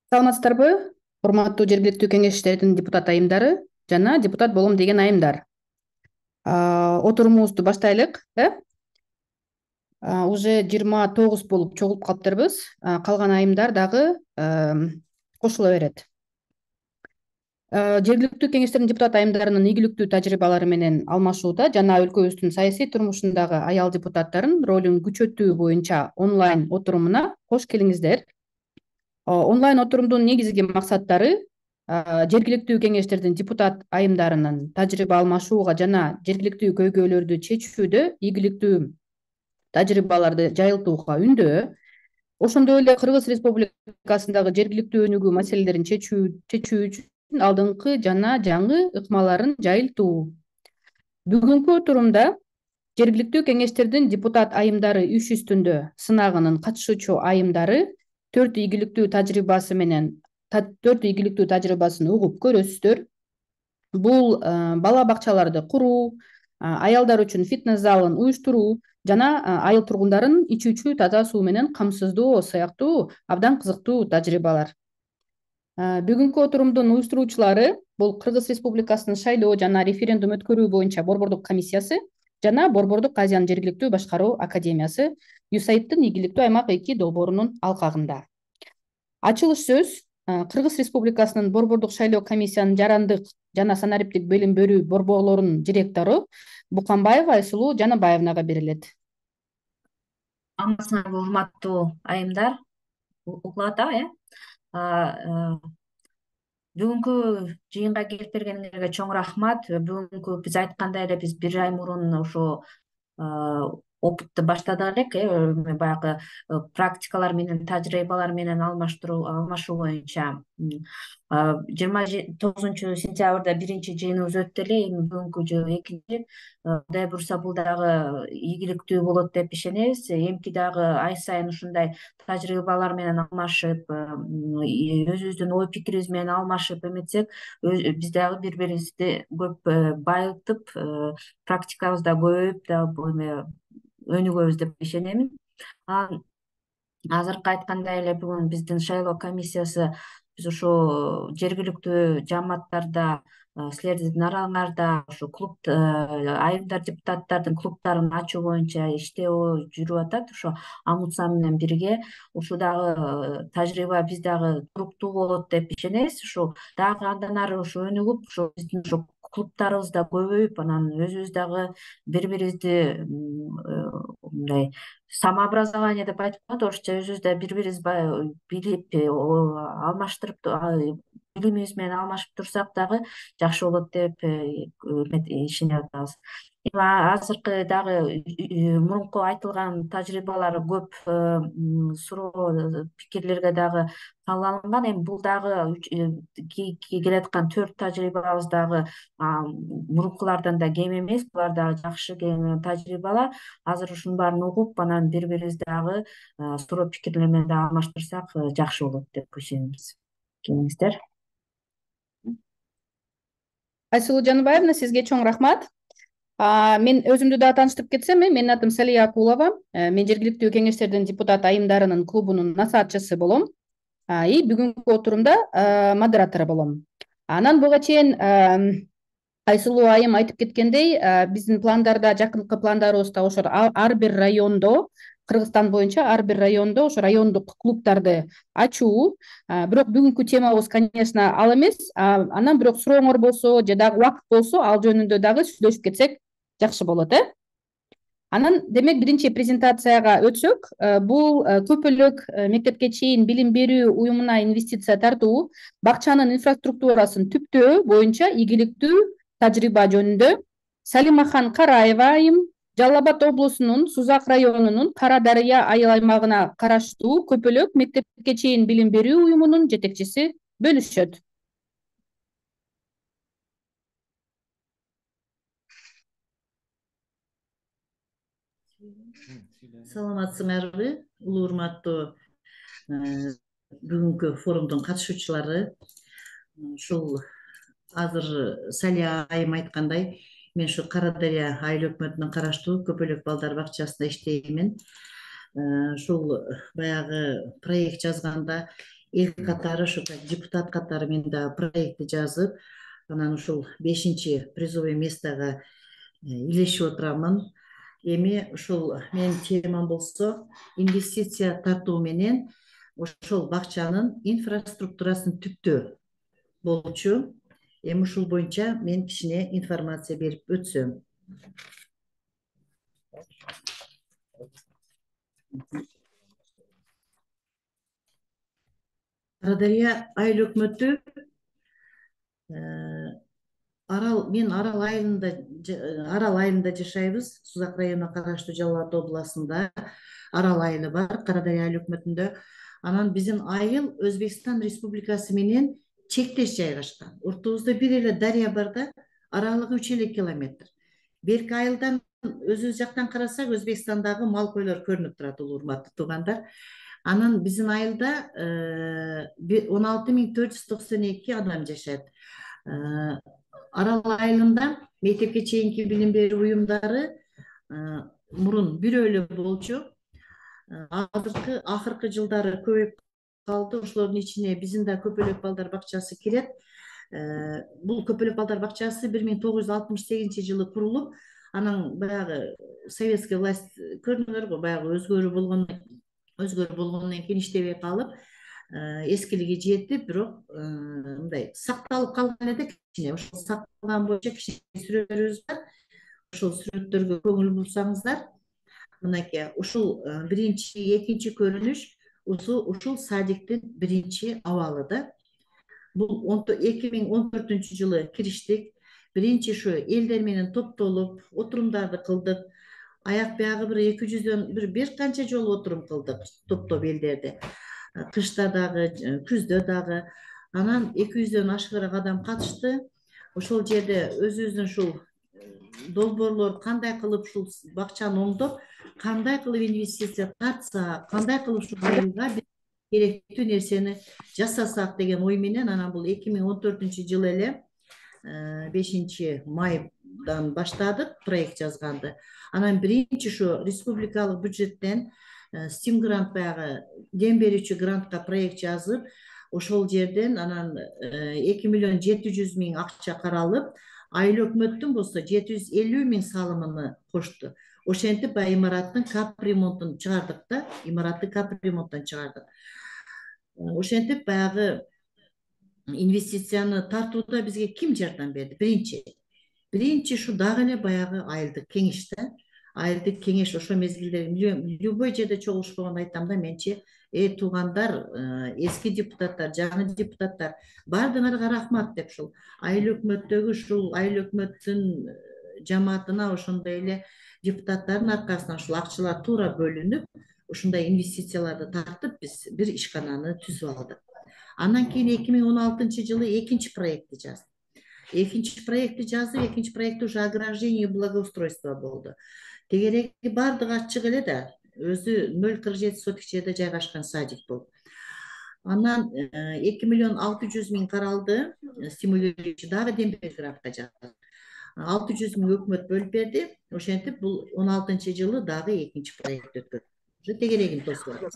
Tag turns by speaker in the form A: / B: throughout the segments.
A: Саламатсыздарбы? Урматтуу жергиликтүү кеңештердин депутат айымдары жана депутат болом деген айымдар. Отурумубузду баштайлык. Уже 29 болуп чогулуп калыптырбыз. Калган айымдар дагы кошула берет. Жергиликтүү кеңештердин депутат айымдарынын ийгиликтүү тажрыйбалары менен алмашууда жана өлкөбүздүн саясий турмушундагы аял депутаттардын ролун күчөтүү боюнча онлайн отурумуна кош келиңиздер. Онлайн отурумдун негизги максаттары жергиликтүү кеңештердин депутат айымдарынын тажрыйба алмашууга жана жергиликтүү көйгөйлөрдү чечүүдө ийгиликтүү тажрыйбаларды жайылтууга үндөө, ошондой эле Кыргыз Республикасындагы жергиликтүү өнүгүү маселелерин чечүү үчүн алдыңкы жана жаңы ыкмаларын жайылтуу. Бүгүнкү отурумда жергиликтүү кеңештердин депутат айымдары иш үстүндө сынагынын катышуучу айымдары төрт ийгиликтүү тажрыйбасын угуп көрөсүздөр. Бул бала бакчаларды куруу, аялдар үчүн фитнес залын уюштуруу жана айыл тургундарын ичүүчү таза суу менен камсыздоо сыяктуу абдан кызыктуу тажрыйбалар. Бүгүнкү отурумдун уюштуруучулары бул Кыргыз Республикасынын шайлоо жана референдум өткөрүү боюнча Борбордук комиссиясы жана Борбордук Азиянын жергиликтүү башкаруу академиясы USAID-тын ийгиликтүү аймак 2 долбоорунун алкагында. Ачылыш сөз Кыргыз Республикасынын Борбордук шайлоо комиссиянын жарандык жана санариптик билим берүү борборлорунун директору Буканбаева Айсулуу Жанабаевнага берилет.
B: Амансыңарбы, урматтуу айымдар, угулат бүгүнкү жыйынга келип бергениңерге чоң рахмат. Бүгүнкү биз айткандай эле биз бир ай мурун ошо опытты баштадык элек, баягы практикалар менен тажрыйбалар менен алмашуу боюнча 29 сентябрда биринчи жыйыныбыз өттү эле. Эми бүгүнкү жыйын экинчи. Кудай буюрса бул дагы ийгиликтүү болот деп ишенебиз. Эмки дагы ай сайын ушундай тажрыйбалар менен алмашып, өзүбүздүн ой пикирибиз менен алмашып эметсек, биз дагы бири бирибизди көп байытып, практикабыз да көбөйүп дагы өнүгөбүз деп ишенемин. Азыркы айткандай эле бүгүн биздин шайлоо комиссиясы биз ошо жергиликтүү жааматтарда, силердин араңарда ошо клуб айымдар депутаттардын клубтарын ачуу боюнча иштөө жүрүп атат. Ошо АМУЦА менен бирге ушул дагы тажрыйба биз дагы туруктуу болот деп ишенебиз. Ушу дагы андан ары ошо өнүгүп, ошо биздин ошо клубтарыбыз да көбөйүп, анан өзүбүз дагы бири бирибизди мындай самообразование деп айтып коет орусча, өзүбүз да бири бирибизди билип, алмаштырып, билимибиз менен алмашып турсак дагы жакшы болот деп ишенип атабыз. Эми азыркы дагы мурунку айтылган тажрыйбалар көп суроо пикирлерге дагы кабыл алынган. Эми бул дагы келаткан 4 тажрыйбабыз дагы мурункулардан да кем эмес. Булар дагы жакшы тажрыйбалар. Азыр ушунун баарын угуп, анан бири бирибизди дагы суроо пикирлер менен дагы алмаштырсак жакшы болот деп ишенебиз. Келиңиздер.
A: Айсулуу Жаныбаевна, сизге чоң рахмат. Мен өзүмдү да тааныштырып кетсем, менин атым Салия Акулова. Мен жергиликтүү кеңештердин депутат айымдарынын клубунун насаатчысы болом. Бүгүнкү отурумда модератору болом. Анан буга чейин Айсулуу айым айтып кеткендей, биздин пландарда, жакынкы пландарыбызда ошо ар бир райондо, Кыргызстан боюнча ар бир райондо ошо райондук клубтарды ачуу. Бирок бүгүнкү темабыз, конечно, ал эмес. Анан бирок сурооңор болсо же дагы убакыт болсо, ал жөнүндө дагы сүйлөшүп кетсек жакшы болот, Анан демек биринчи презентацияга өтсөк, бул көпөлөк мектепке чейин билим берүү уюмуна инвестиция тартуу, бакчанын инфраструктурасын түптөө боюнча ийгиликтүү тажрыйба жөнүндө Салимахан Караева айым Жалал Абад облусунун Сузак районунун Кара Дарыя айыл аймагына караштуу көпөлөк мектепке чейин билим берүү уюмунун жетекчиси бөлүшөт.
C: Саламатсыңарбы, улуу урматтуу бүгүнкү форумдун катышуучулары. Ушул азыр Салия айым айткандай, мен ушу Кара Дарыя айыл өкмөтүнө караштуу көпөлөк балдар бакчасында иштеймин. Ушул баягы проект жазганда эл катары ушу депутат катары мен дагы проектти жазып, анан ушул 5-чи призовый местого илешип отурамын. Эми ушул менин темам болсо инвестиция тартуу менен ошол бакчанын инфраструктурасын түптөө болчу. Эми ушул боюнча мен кичине информация берип өтсөм. Карадария айыл өкмөтү мен Арал айылында жашайбыз. Сузак районуна караштуу Жалал Абад областында Арал айылы бар, Карадария айыл өкмөтүндө. Анан биздин айыл Өзбекстан Республикасы менен чектеш жайгашкан. Ортобузда бир эле дарыя бар да, аралыгы 3 километр. Берки айылдан өзүбүз жактан карасак Өзбекстандагы мал койлор көрүнүп турат, урматтуу туугандар. Анан биздин айылда 16.492 адам жашайт. Арал айылында мектепке чейинки билим берүү уюмдары мурун бирөө эле болчу. Акыркы жылдары көбөйүп калды. Ошолордун ичине биздин да Көпөлөк балдар бакчасы кирет. Бул Көпөлөк балдар бакчасы 1968 жылы курулуп, анан баягы советский власть көрдүңөр го, баягы өзгөрүү болгондон кийин иштебей калып, эскилиги жетип, бирок мындай сакталып калган эле кичине. Ошол сакталган боюнча кичине сүрөттөрүбүз бар. Ошол сүрөттөргө көңүл бурсаңыздар, мынакей ушул биринчи, экинчи көрүнүш ушул садиктин биринчи абалы да. Бул 2014 жылы кириштик. Биринчи ушу элдер менен топтолуп отурумдарды кылдык. Аяк биягы бир 200дөн бир канча жолу отурум кылдык, топтоп элдерди. Кышта дагы, күздө дагы. Анан 200дөн ашыгыраак адам катышты. Ошол жерде өзүбүздүн ушул долбоорлор кандай кылып ушул бакчаны оңдоп, кандай кылып инвестиция тартса, кандай кылып ушул айылга керектүү нерсени жасасак деген ой менен, анан бул 2014 жылы эле 5 майдан баштадык проект жазганды. Анан биринчи ушу республикалык бюджеттен стим грант, баягы дем берүүчү грантка проект жазып, ошол жерден анан 2.700.000 акча каралып, айыл өкмөттүн болсо 750.000 салымын кошту. Ошентип баягы имараттын капремонтун чыгардык да, имаратты капремонттон чыгардык. Ошентип баягы инвестицияны тартууда бизге ким жардам берди? Биринчи ушу дагы эле баягы айылдык кеңеш да. Айылдык кеңеш ошо мезгилде любой жерде чогулушпогонду айтам да, менчи. Туугандар, эски депутаттар, жаңы депутаттар, баардыгыңарга рахмат деп ушул айыл өкмөттөгү ушул айыл өкмөттүн жамаатына ошондой эле депутаттардын аркасынан ушул акчалар туура бөлүнүп, ушундай инвестицияларды тартып биз бир ишкананы түзүп алдык. Андан кийин 2016 жылы экинчи проектти жаздым. Экинчи проектти уже ограждение и благоустройство болду. Тегереги баардыгы ачык эле да, өзү 0,47 сотик жерде жайгашкан садик болду. Анан 2.600.000 каралды, стимулирующий дагы дем берүүчү грантка жаздым. 600.000 өкмөт бөлүп берди. Ошентип бул 16 жылы дагы экинчи проект өткөрдүк. Уже тегерегин тосуп атат.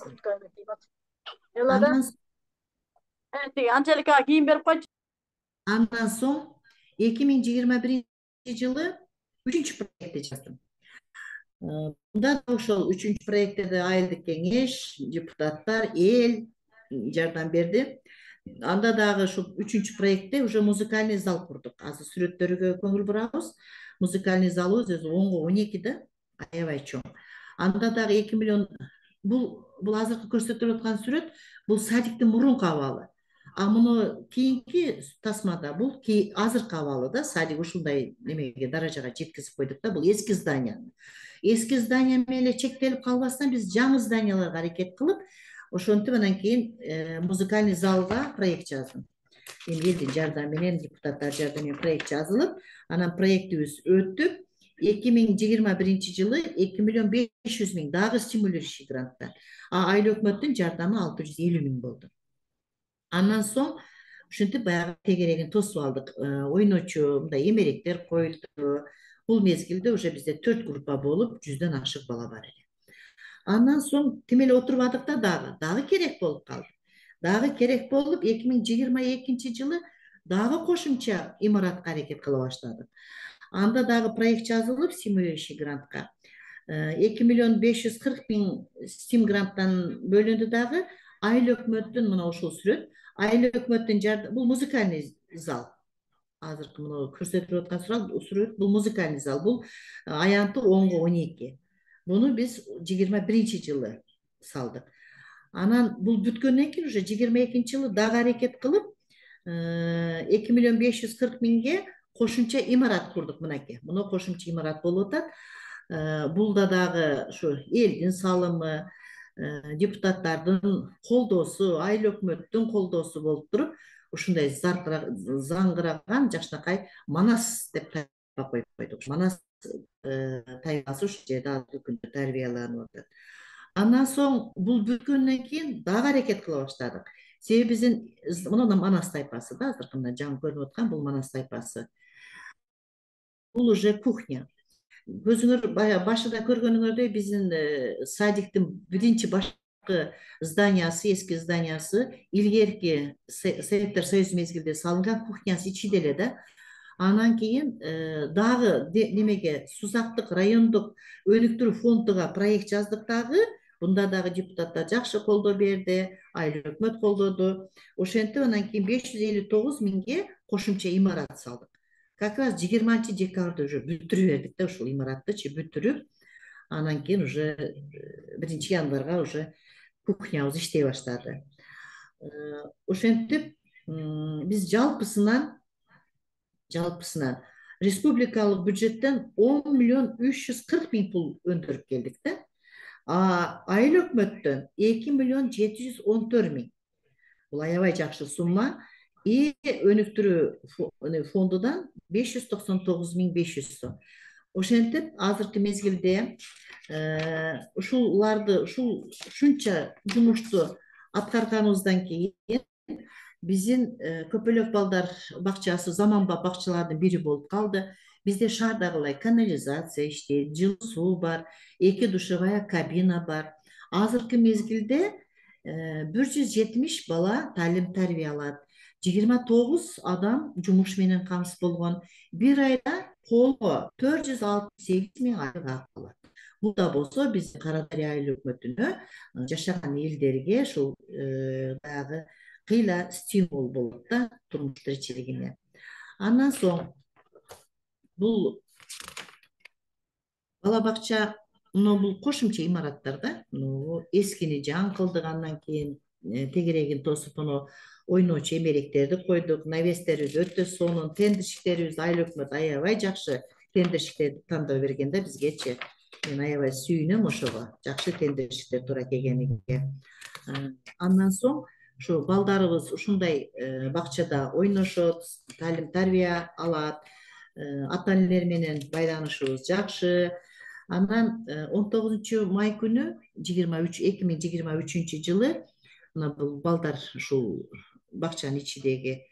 D: Анжелика кийин берип койчу.
C: Андан соң 2021 жылы 3-чү проектти жаздым. Мында ошол 3-чү проектте да айылдык кеңеш, депутаттар, эл жардам берди. Анда дагы ушул 3-чү проектте уже музыкальный зал курдук. Азыр сүрөттөргө көңүл бурабыз. Музыкальный залыбыз өзү 10-12 да, аябай чоң. Анда дагы 2 миллион. Бул азыркы көрсөтүлүп аткан сүрөт, бул садиктин мурунку абалы. А муну кийинки тасмада бул азыркы абалы да, садик ушундай немеге, даражага жеткизип койдук да, бул эски здание. Эски здание менен эле чектелип калбастан биз жаңы зданияларга аракет кылып, ошентип анан кийин музыкальный залга проект жаздым. Эми элдин жардамы менен, депутаттар жардамы менен проект жазылып, анан проектибиз өттү. 2021 жылы 2.500.000 дагы стимулирующий гранттар. Айыл өкмөттүн жардамы 650.000 болду. Андан соң ушинтип баягы тегерегин тосуп алдык. Ойночу мындай эмеректер коюлду. Бул мезгилде уже бизде 4 группа болуп, 100дөн ашык бала бар эле. Андан соң тим эле отурбадык да, дагы керек болуп калды. дагы керек болуп 2022 дагы кошумча имаратка аракет кыла баштадык. Анда дагы проект жазылып стимулирующий грантка 2,540,000 стим гранттан бөлүндү. Дагы айыл өкмөттүн мына ушул сүрөт, айыл өкмөттүн жардамы, бул музыкальный зал. Азыркы мына көрсөтүлүп аткан сүрөт бул музыкальный зал, бул аянты 10-12. Буну биз 21-жылы салдык. Анан бул бүткөндөн кийин уже 22-жылы дагы аракет кылып 2,540,000 кошумча имарат курдук. Мынакей, мына кошумча имарат болуп атат. Бул да дагы ушу элдин салымы, депутаттардын колдоосу, айыл өкмөттүн колдоосу болуп туруп, ушундай заңгыраган жакшынакай Манас деп тайпа коюп койдук. Манас тайпасы ушул жерде азыркы күндө тарбияланып атат. Андан соң бул бүткөндөн кийин дагы аракет кыла баштадык. Себеби биздин мына Манас тайпасы да, азыркы мына жаңы көрүнүп аткан бул Манас тайпасы. Бул уже кухня. Көзүңөр башында көргөнүңөрдөй биздин садиктин биринчи башкы зданиясы, эски зданиясы илгерки Советтер Союзу мезгилинде салынган кухнясы ичиде эле да. Анан кийин дагы немеге Сузактык райондук өнүктүрүү фондуга проект жаздык дагы. Бунда дагы депутаттар жакшы колдоо берди, айыл өкмөт колдоду. Ошентип анан кийин 559,000 кошумча имарат салдык. Как раз 20-декабрда уже бүтүрүп бердик да, ушул имараттычы бүтүрүп, анан кийин уже 1-январга уже кухнябыз иштей баштады. Ошентип биз жалпысынан республикалык бюджеттен 10,340,000 пул өндүрүп келдик да. Айыл өкмөттөн 2,714,000. Бул аябай жакшы сумма. И өнүктүрүү фондудан 599,500 сом. Ошентип азыркы мезгилде ушунча жумушту аткарганыбыздан кийин биздин Көпөлөк балдар бакчасы заманбап бакчалардын бири болуп калды. Бизде шаардагылай канализация иштейт, жылуу суу бар, 2 душевая кабина бар. Азыркы мезгилде 170 бала талим-тарбия алат. 29 адам жумуш менен камсыз болгон. Bir айда колго 468,000 айык алат. Бул да болсо биздин Кара Дарыя айыл өкмөтүнө жашаган элдерге ушул баягы кыйла стимул болот да турмуш тиричилигине. Андан соң бул бала бакча, бул кошумча имараттар да, эскини жаңкылдык, андан кийин тегерегин тосуп ойноочу эмеректерди койдук, навестерибиз өтө сонун, тендерщиктерибиз айыл өкмөт аябай жакшы тендерщиктерди тандап берген да бизгечи. Мен аябай сүйүнөм ошого, жакшы тендерщиктер туура келгениге. Андан соң ушу балдарыбыз ушундай бакчада ойношот, талим-тарбия алат, ата-энелер менен байланышыбыз жакшы. Андан 19-май күнү 2023-жылы мына бул балдар ушул бакчанын ичидеги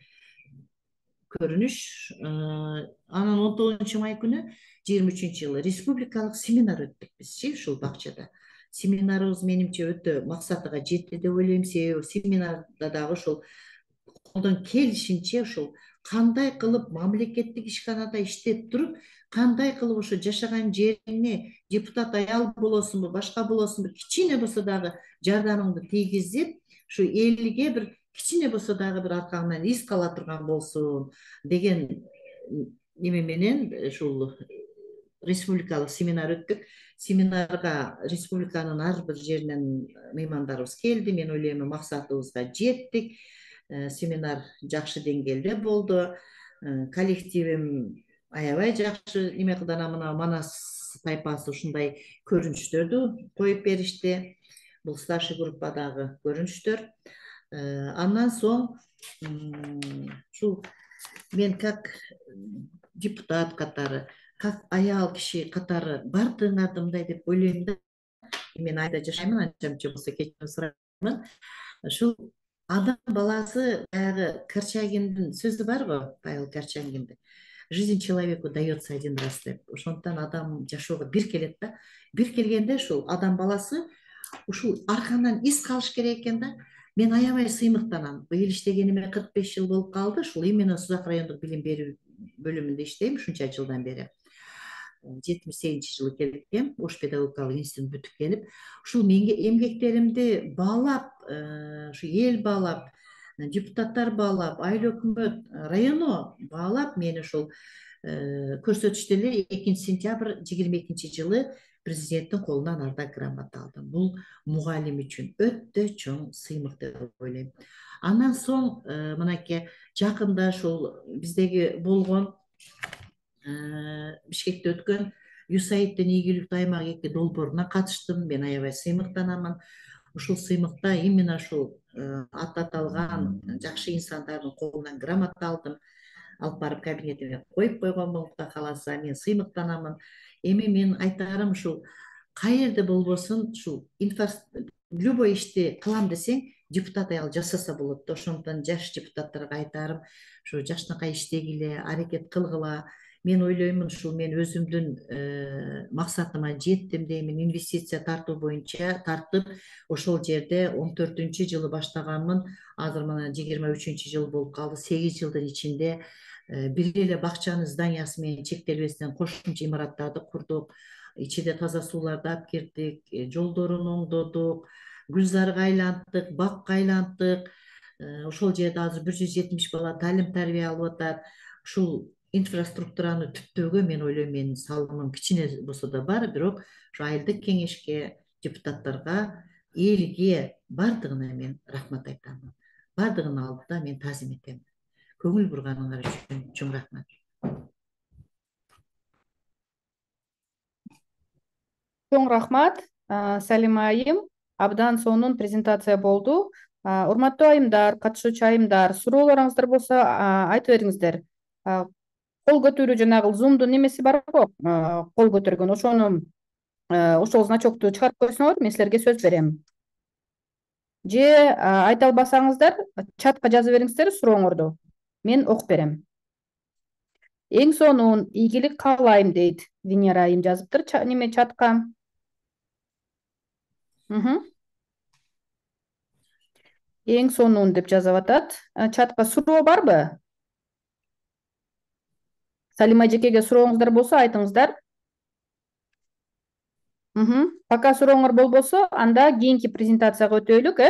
C: көрүнүш. Анан 19-май күнү 23-жылы республикалык семинар өттүк бизчи ушул бакчада. Семинарыбыз менимче өтө максатыга жетти деп ойлойм. Себеби семинарда дагы ушул колдон келишинче ушул кандай кылып мамлекеттик ишканада иштеп туруп, кандай кылып ошо жашаган жериңе депутат аял болосунбу, башка болосунбу, кичине болсо дагы жардамыңды тийгизип, ушу элге бир кичине болсо дагы бир аркаңдан из кала турган болсун деген неме менен ушул республикалык семинар өттүк. Семинарга республиканын ар бир жеринен меймандарыбыз келди. Мен ойлойм максатыбызга жеттик. Семинар жакшы деңгээлде болду. Коллективим аябай жакшы неме кылды. Мына Манас тайпасы ушундай көрүнүштөрдү коюп беришти. Бул старший группадагы көрүнүштөр. Андан соң ушул мен как депутат катары, как аял киши катары бардыгыңарды мындай деп ойлойм да. Мен айда жашаймын, анча болсо кечирим сураймын. Ушул адам баласы, баягы Корчагиндин сөзү бар го, Павел Корчагиндин. Жизнь человеку дается один раз деп. Ошондуктан адам жашоого бир келет да. Бир келгенде ушул адам баласы ушул аркандан из калыш керек экен да. мен аябай сыймыктанам. Быйыл иштегениме 45 жыл болуп калды. Ушул именно Сузак райондук билим берүү бөлүмүндө иштейм ушунча жылдан бери. 78-жылы келгем, Ош педагогикалык институтун бүтүп келип, ушул менин эмгектеримди баалап, ушу эл баалап, депутаттар баалап, айыл өкмөт, районо баалап мени ушул көрсөтүштү эле 2 сентябрь 22-жылы президенттин колунан ардак грамота алдым. Бул мугалим үчүн өтө чоң сыймык деп ойлойм. Андан соң мынакей жакында ушул биздеги болгон Бишкекте өткөн USAID-тен ийгиликтүү аймак 2 долбооруна катыштым. Мен аябай сыймыктанамын. Ушул сыймыкта именно ушул аталган жакшы инсандардын колунан грамота алдым. Алып барып кабинетиме коюп койгон болуп да каласа, мен сыймыктанамын. Эми мен айтарым ушул каерде болбосун ушул любой ишти кылам десең, депутат аял жасаса болот да. Ошондон жаш депутаттарга айтарым, ушу жакшынакай иштегиле, аракет кылгыла. Мен ойлоймун, ушул мен өзүмдүн максатыма жеттим деймин. Инвестиция тартуу боюнча тартып, ошол жерде 14-жылы баштаганмын. Азыр мына 23-жыл болуп калды. 8 жылдын ичинде бир эле бакчанын зданиясы менен чектелбестен кошумча имараттарды курдук. Ичинде таза сууларды алып кирдик, жолдорун оңдодук, гүлзарга айланттык, бакка айланттык. Ошол жерде азыр 170 бала талим тарбия алып атат. Ушул инфраструктураны түптөөгө мен ойлойм, менин салымым кичине болсо да бар, бирок ушу айылдык кеңешке, депутаттарга, элге бардыгына мен рахмат айтам. Бардыгынын алдында мен таазим этем. Көңүл бурганыңар үчүн чоң рахмат.
A: Чоң рахмат, Салима айым. Абдан сонун презентация болду. Урматтуу айымдар, катышуучу айымдар, суроолоруңуздар болсо айтып бериңиздер. Кол көтөрүү, жанагы Zoom'дун немеси барбы? Кол көтөргөн, ошону ошол значокту чыгарып койсоңор, мен силерге сөз берем. Же айта албасаңыздар, чатка жазып бериңиздер сурооңорду. Мен окуп берем. Эң сонун ийгилик каалайм дейт Венера айым, жазыптыр неме чатка. Эң сонун деп жазып атат. Чатка суроо барбы? Салима жекеге сурооңуздар болсо айтыңыздар. Пока сурооңор болбосо, анда кийинки презентацияга өтөлүк,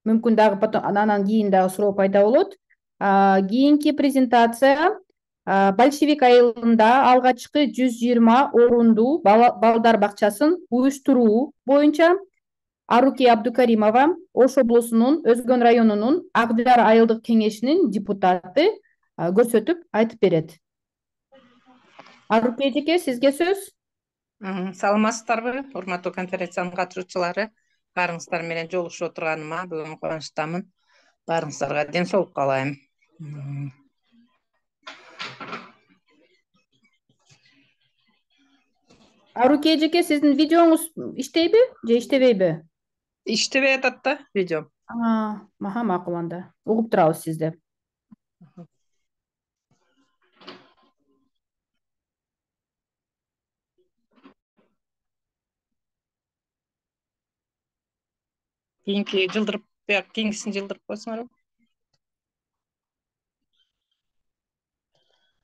A: Мүмкүн дагы потом анан кийин дагы суроо пайда болот. Кийинки презентация Большевик айылында алгачкы 120 орундуу балдар бакчасын уюштуруу боюнча Аруки Абдукаримова Ош облусунун Өзгөн районунун Акжар айылдык кеңешинин депутаты көрсөтүп айтып берет. Аруки эжеке, сизге сөз.
D: Саламатсыздарбы, урматтуу конференциянын катышуучулары? Баарыңыздар менен жолугушуп отурганыма бүгүн кубанычтамын. Баарыңыздарга ден соолук каалайм.
A: Аруки эжеке, сиздин видеоңуз иштейби же иштебейби?
D: Иштебей атат да видео.
A: Макул, анда угуп турабыз сизди.
D: Кийинкисин жылдырып койсоңор.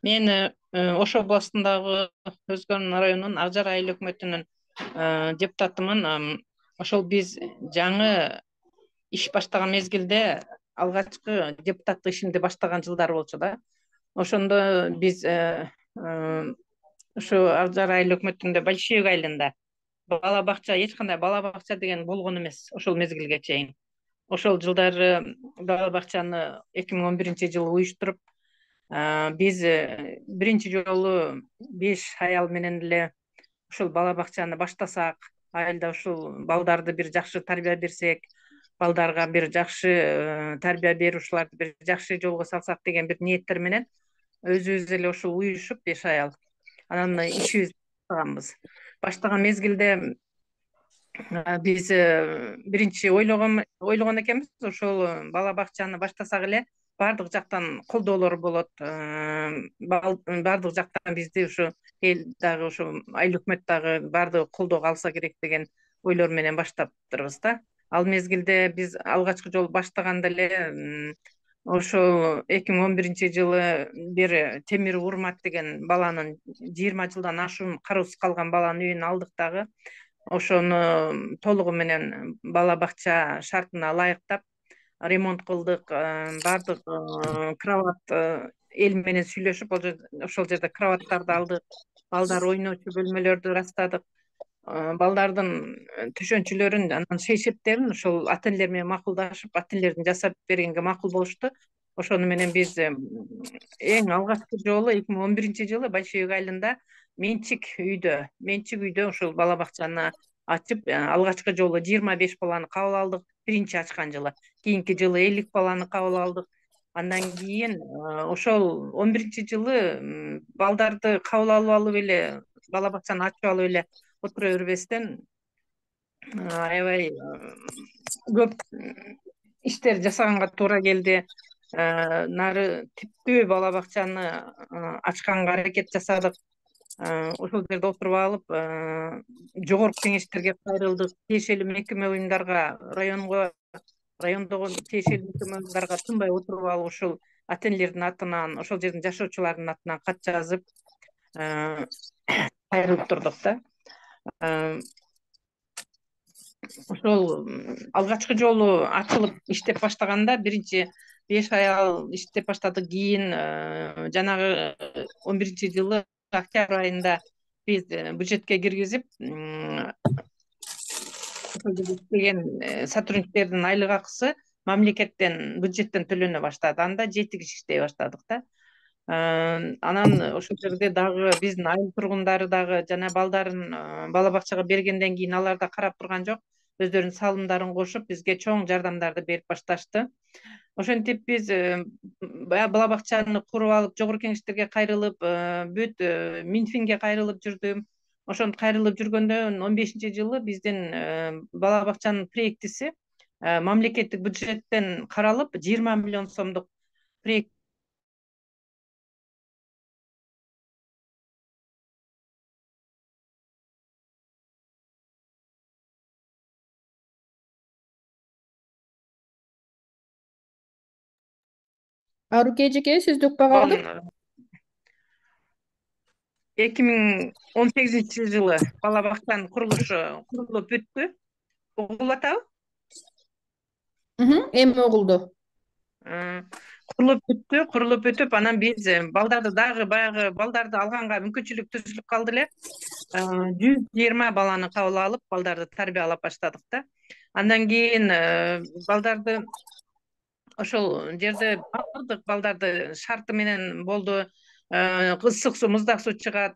D: Мен Ош областындагы Өзгөн районунун Акжар айыл өкмөтүнүн депутатымын. Ошол биз жаңы иш баштаган мезгилде алгачкы депутаттык ишимди баштаган жылдар болчу да. Ошондо биз ушу Акжар айыл өкмөтүндө Большевик айылында бала бакча, эч кандай бала бакча деген болгон эмес ошол мезгилге чейин. Ошол жылдары бала бакчаны 2011-жылы уюштуруп, биз биринчи жолу 5 аял менен эле ушул бала бакчаны баштасак, айылда ушул балдарды бир жакшы тарбия берсек, балдарга бир жакшы тарбия берушуларды бир жакшы жолго салсак деген бир ниеттер менен өзүбүз эле ушул уюшуп 5 аял анан ишибизди баштаганбыз. Баштаган мезгилде биз биринчи ойлогон экенбиз, ошол бала бакчаны баштасак эле баардык жактан колдоолор болот, баардык жактан бизди ушу эл дагы ушу айыл өкмөт дагы баардыгы колдоого алса керек деген ойлор менен баштаптырбыз да. Ал мезгилде биз алгачкы жолу баштаганда эле ошол 2011 жылы бир Темир Урмат деген баланын 20 жылдан ашуун кароосуз калган баланын үйүн алдык дагы. Ошону толугу менен бала бакча шартына ылайыктап ремонт кылдык. Баардык кровать эл менен сүйлөшүп ошол жерде кроваттарды алдык. Балдар ойночу бөлмөлөрдү ырастадык. Балдардын төшөнчүлөрүн анан шейшептерин ошол ата энелер менен макулдашып, ата энелердин жасап бергенге макул болушту. Ошону менен биз эң алгачкы жолу 2011 жылы Большой айылында менчик үйдө ошол бала бакчаны ачып, алгачкы жолу 25 баланы кабыл алдык. Биринчи ачкан жылы. Кийинки жылы 50 баланы кабыл алдык. Андан кийин ошол 11-жылы балдарды кабыл алып эле, бала бакчаны ачып алып эле отура бербестен аябай көп иштер жасаганга туура келди. Нары типтүү бала бакчаны ачканга аракет жасадык. Ошол жерде отуруп алып, жогорку кеңештерге кайрылдык, тиешелүү мекеме уюмдарга, райондогу тиешелүү мекеме уюмдарга тынбай отуруп алып, ошол ата энелердин атынан, ошол жердин жашоочуларынын атынан кат жазып кайрылып турдук да. Ошол алгачкы жолу ачылып иштеп баштаганда биринчи 5 ай иштеп баштадык. Кийин жанагы 11-жылы октябрь айында биз бюджетке киргизип, ошол жерде иштеген сотрудниктердин айлык акысы мамлекеттен, бюджеттен төлөнө баштады. Анда 7 киши иштей баштадык да. Анан ошол жерде дагы биздин айыл тургундары дагы жана балдарын бала бакчага бергенден кийин алар да карап турган жок. Өздөрүнүн салымдарын кошуп, бизге чоң жардамдарды берип башташты. Ошентип биз бала бакчаны куруп алып, жогорку кеңештерге кайрылып, бүт Минфинге кайрылып жүрдүм. Ошентип кайрылып жүргөндөн 15-жылы биздин бала бакчанын проектиси мамлекеттик бюджеттен каралып, 20 миллион сомдук проект.
A: Аруке эжеке, сизди укпай калдык.
D: 2018-жылы бала бакчанын курулушу курулуп бүттү. Угулуп атабы?
A: Эми угулду.
D: Курулуп бүтүп, анан биз балдарды дагы баягы балдарды алганга мүмкүнчүлүк түзүлүп калды эле. 120 баланы кабыл алып, балдарды тарбиялап баштадык да. Андан кийин балдарды ошол жерде баардык балдарды шарты менен болду. Ысык суу, муздак суу чыгат.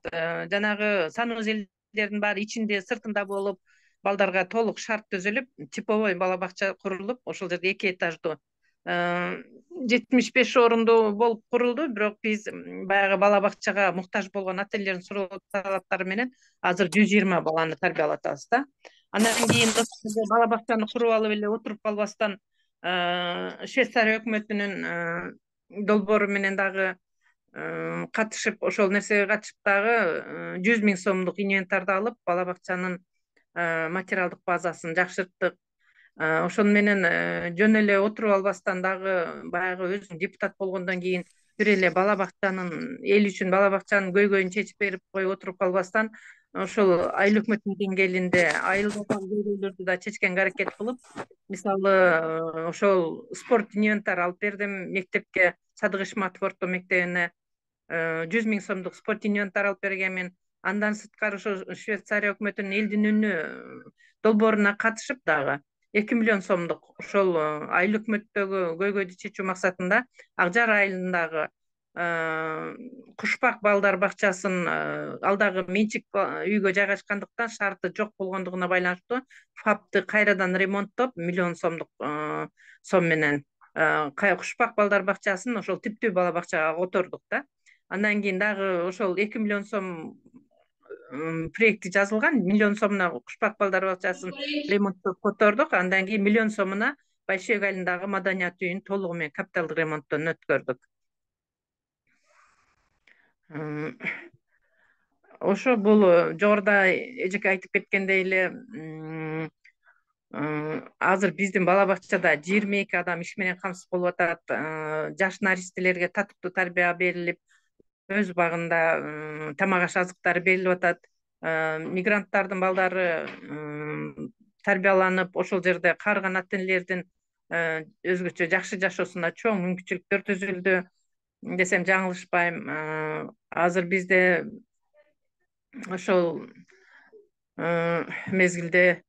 D: Жанагы санузелдердин баары ичинде, сыртында болуп, балдарга толук шарт түзүлүп, типовой бала бакча курулуп, ошол жерде 2 этаждуу 75 орундуу болуп курулду. Бирок биз баягы бала бакчага муктаж болгон ата энелердин суроо талаптары менен азыр 120 баланы тарбиялап атабыз да. Андан кийин бала бакчаны куруп алып эле отуруп калбастан, Швейцария өкмөтүнүн долбоору менен дагы катышып, ошол нерсеге катышып дагы 100 000 сомдук инвентарды алып, бала бакчанын материалдык базасын жакшырттык. Ошону менен жөн эле отуруп албастан дагы баягы өзүм депутат болгондон кийин бир эле бала бакчанын, эл үчүн бала бакчанын көйгөйүн чечип берип коюп отуруп калбастан, ошол айыл өкмөтүнүн деңгээлинде айылдардагы көйгөйлөрдү да чечкенге аракет кылып, мисалы ошол спорт инвентар алып бердим мектепке, Садык Ишматов орто мектебине 100 000 сомдук спорт инвентар алып бергенмин. Андан сырткары ошо Швейцария өкмөтүнүн элдин үнү долбооруна катышып дагы 2 миллион сомдук ошол айыл өкмөттөгү көйгөйдү чечүү максатында Ак Жар айылындагы Кушпак балдар бакчасын, ал дагы менчик үйгө жайгашкандыктан шарты жок болгондугуна байланыштуу ФАПты кайрадан ремонттоп, миллион сомдук сом менен Кушпак балдар бакчасын ошол типтүү бала бакчага котордук да. Андан кийин дагы ошол 2 миллион сом проекти жазылган. Миллион сомуна Кушпак балдар бакчасын ремонттоп котордук. Андан кийин миллион сомуна Большой айылындагы маданият үйүн толугу менен капиталдык ремонттон өткөрдүк. Ошо бул жогоруда эжеке айтып кеткендей эле азыр биздин бала бакчада 22 адам иш менен камсыз болуп атат. Жаш наристелерге татыктуу тарбия берилип, өз багында тамак аш азыктары берилип атат. Мигранттардын балдары тарбияланып, ошол жерде каарыган ата энелердин өзгөчө жакшы жашоосуна чоң мүмкүнчүлүктөр түзүлдү десем жаңылышпайм. Азыр бизде ошол мезгилде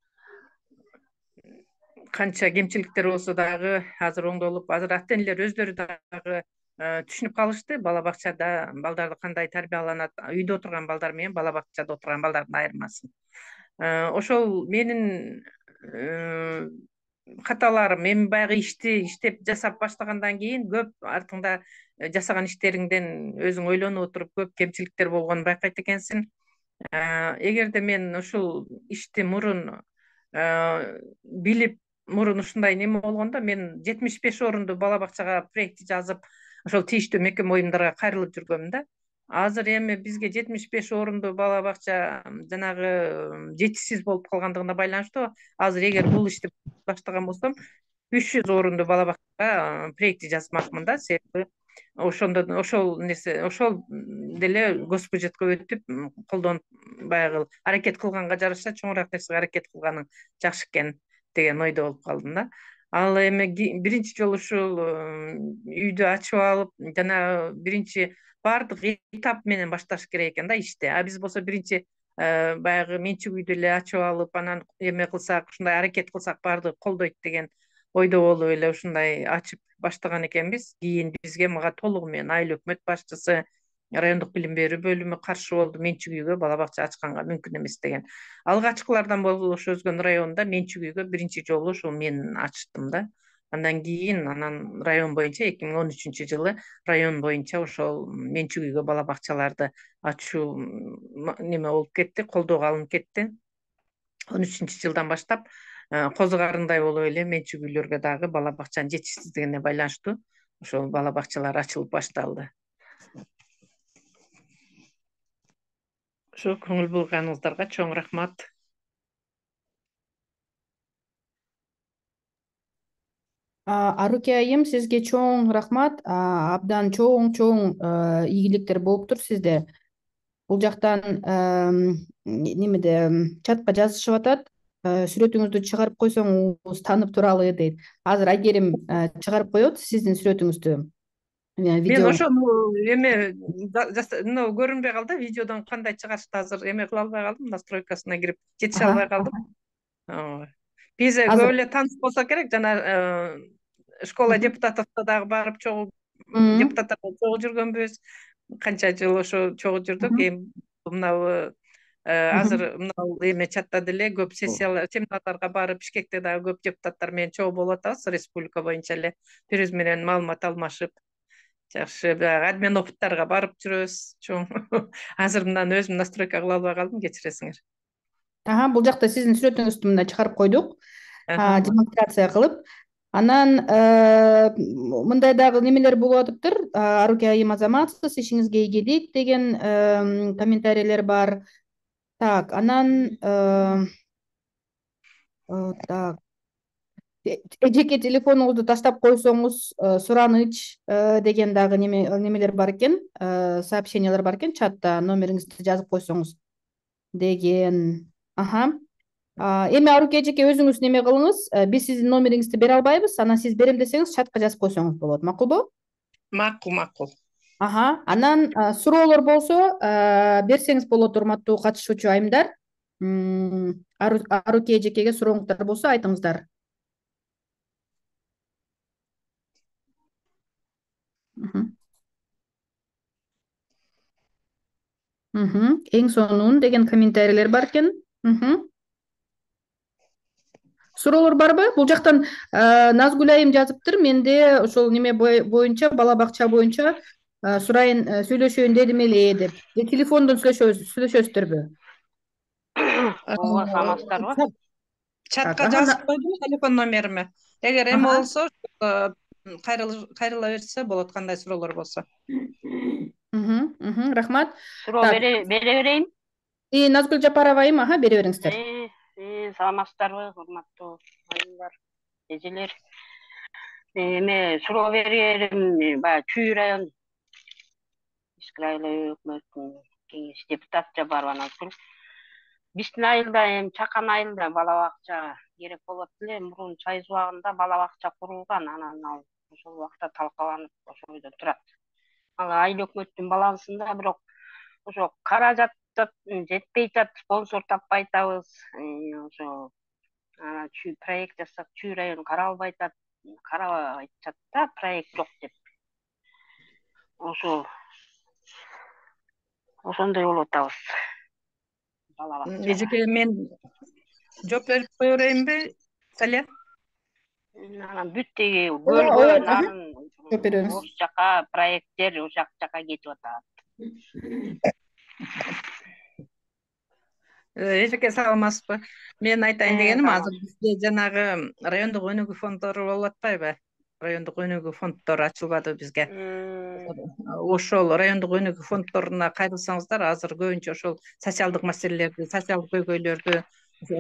D: канча кемчиликтер болсо дагы азыр оңдолуп, азыр ата энелер өздөрү дагы түшүнүп калышты бала бакчада балдарды кандай тарбияланат, үйдө отурган балдар менен бала бакчада отурган балдардын айырмасын. Ошол менин каталарым. Эми баягы ишти иштеп жасап баштагандан кийин көп артыңда жасаган иштериңден өзүң ойлонуп отуруп көп кемчиликтер болгонун байкайт экенсиң. Эгерде мен ушул ишти мурун билип, мурун ушундай неме болгондо мен 75 орунду бала бакчага проекти жазып, ошол тийиштүү мекеме уюмдарга кайрылып жүргөмүн да. Азыр эми бизге 75 орунду бала бакча жанагы жетишсиз болуп калгандыгына байланыштуу азыр эгер бул ишти баштаган болсом 300 орунду бала бакчага проекти жазмакмын да. Себеби ошол деле госпбюджетке өтүп колдонуп баягы аракет кылганга жараша чоңураак нерсеге аракет кылганың жакшы экен деген ойдо болуп калдым да. Ал эми биринчи жолу ушул үйдү ачып алып, жана биринчи баардык этап менен башташ керек экен да ишти. Биз болсо биринчи баягы менчик үйдү эле ачып алып, анан эме кылсак, ушундай аракет кылсак баардыгы колдойт деген ойдо болуп эле ушундай ачып баштаган экенбиз. Кийин бизге мага толугу менен айыл өкмөт башчысы, райондук билим берүү бөлүмү каршы болду. Менчик үйгө бала бакча ачканга мүмкүн эмес деген. Алгачкылардан болуш Өзгөн районунда менчик үйгө биринчи жолу ушул мен ачтым да. Андан кийин район боюнча 2013-жылы район боюнча ошол менчик үйгө бала бакчаларды ачуу неме болуп кетти, колдоого алынып кетти. 13-жылдан баштап козу карындай болуп эле менчик үйлөргө дагы бала бакчанын жетишсиздигине байланыштуу ошол бала бакчалар ачылып башталды. Ошо көңүл бурганыңыздарга чоң рахмат.
A: Аруке айым, сизге чоң рахмат. Абдан чоң ийгиликтер болуптур сизде. Бул жактан немеде чатка жазышып атат. Сүрөтүңүздү чыгарып койсоңуз таанып туралы дейт. Азыр Айгерим чыгарып коет сиздин сүрөтүңүздү.
D: Мен ошону эме мына көрүнбөй калды, видеодон кандай чыгарышты азыр эме кыла албай калдым, настройкасына кирип жетише албай калдым. Биз көп эле тааныш болсо керек, жана школа депутатовдо дагы барып депутаттарга чогуу жүргөнбүз. Канча жыл ошо чогуу жүрдүк. Эми мынабу азыр мына эме чатта деле көп сессиялар, семинарларга барып, Бишкекте дагы көп депутаттар менен чогуу болуп атабыз, республика боюнча эле бири биз менен маалымат алмашып, жакшы адмен опыттарга барып жүрөбүз чоң. Азыр мындан өзүм настройка кыла албай калдым, кечиресиңер.
A: Бул жакта сиздин сүрөтүңүздү мында чыгарып койдук, демонстрация кылып. Анан мындай дагы немелер болуп атыптыр. Аруке айым азаматсыз, ишиңизге ийгилик деген комментарийлер бар. Так, анан жеке телефонуңузду таштап койсоңуз сураныч деген дагы немелер бар экен, сообщениялар бар экен чатта, номериңизди жазып койсоңуз деген. Эми Аруке эжеке өзүңүз неме кылыңыз, биз сиздин номериңизди бере албайбыз, анан сиз берем десеңиз чатка жазып койсоңуз болот, макулбу?
D: Макул.
A: Анан суроолор болсо берсеңиз болот, урматтуу катышуучу айымдар. Аруке эжекеге сурооңуздар болсо айтыңыздар. Эң сонун деген комментарийлер бар экен. Суроолор барбы? Бул жактан Назгүл айым жазыптыр. Менде ошол неме боюнча, бала бакча боюнча сурайын, сүйлөшөйүн дедим эле деп. Телефондон сүйлөшөсүздөрбү?
D: Ооба, саламатсыздарбы? Чатка жазып койдум телефон номериме. Эгер эме болсо, кайрыла берсе болот, кандай суроолор болсо.
A: Рахмат.
E: Суроо бере берейин.
A: Назгүл Жапарова айым, бере бериңиздер.
E: Саламатсыздарбы, урматтуу айымдар, эжелер. Эме суроо берерим, баягы Чүй район Ишки райлуу өкмөттүн кеңеш депутаты Жапарова Назгүл. Биздин айылда Чакан айылда бала бакча керек болот эле. Мурун Чайыз убагында бала бакча курулган, анан ал ошол убакта талкаланып ошол бойдо турат. Ал айыл өкмөттүн балансында, бирок ошо каражат жетпей жатат, спонсор таппай атабыз. Ошо Чүй проект жасап, Чүй район каралбай атат да, проект жок деп. Ошондой болуп атабыз. Бала бакча.
D: Эжеке, мен жооп берип кое берейинби, Салия?
E: Анан бүттеги көлгө нарын
A: жооп беребиз.
E: ош жака проекттер ошол жака кетип атат.
D: Эжеке, саламатсызбы? Мен айтайын дегеним, азыр бизде жанагы райондук өнүгүү фонддору болуп атпайбы? Райондук өнүгүү фонддору ачылбады бизге. Ошол райондук өнүгүү фонддоруна кайрылсаңыздар, азыр көбүнчө ошол социалдык маселелерди, социалдык көйгөйлөрдү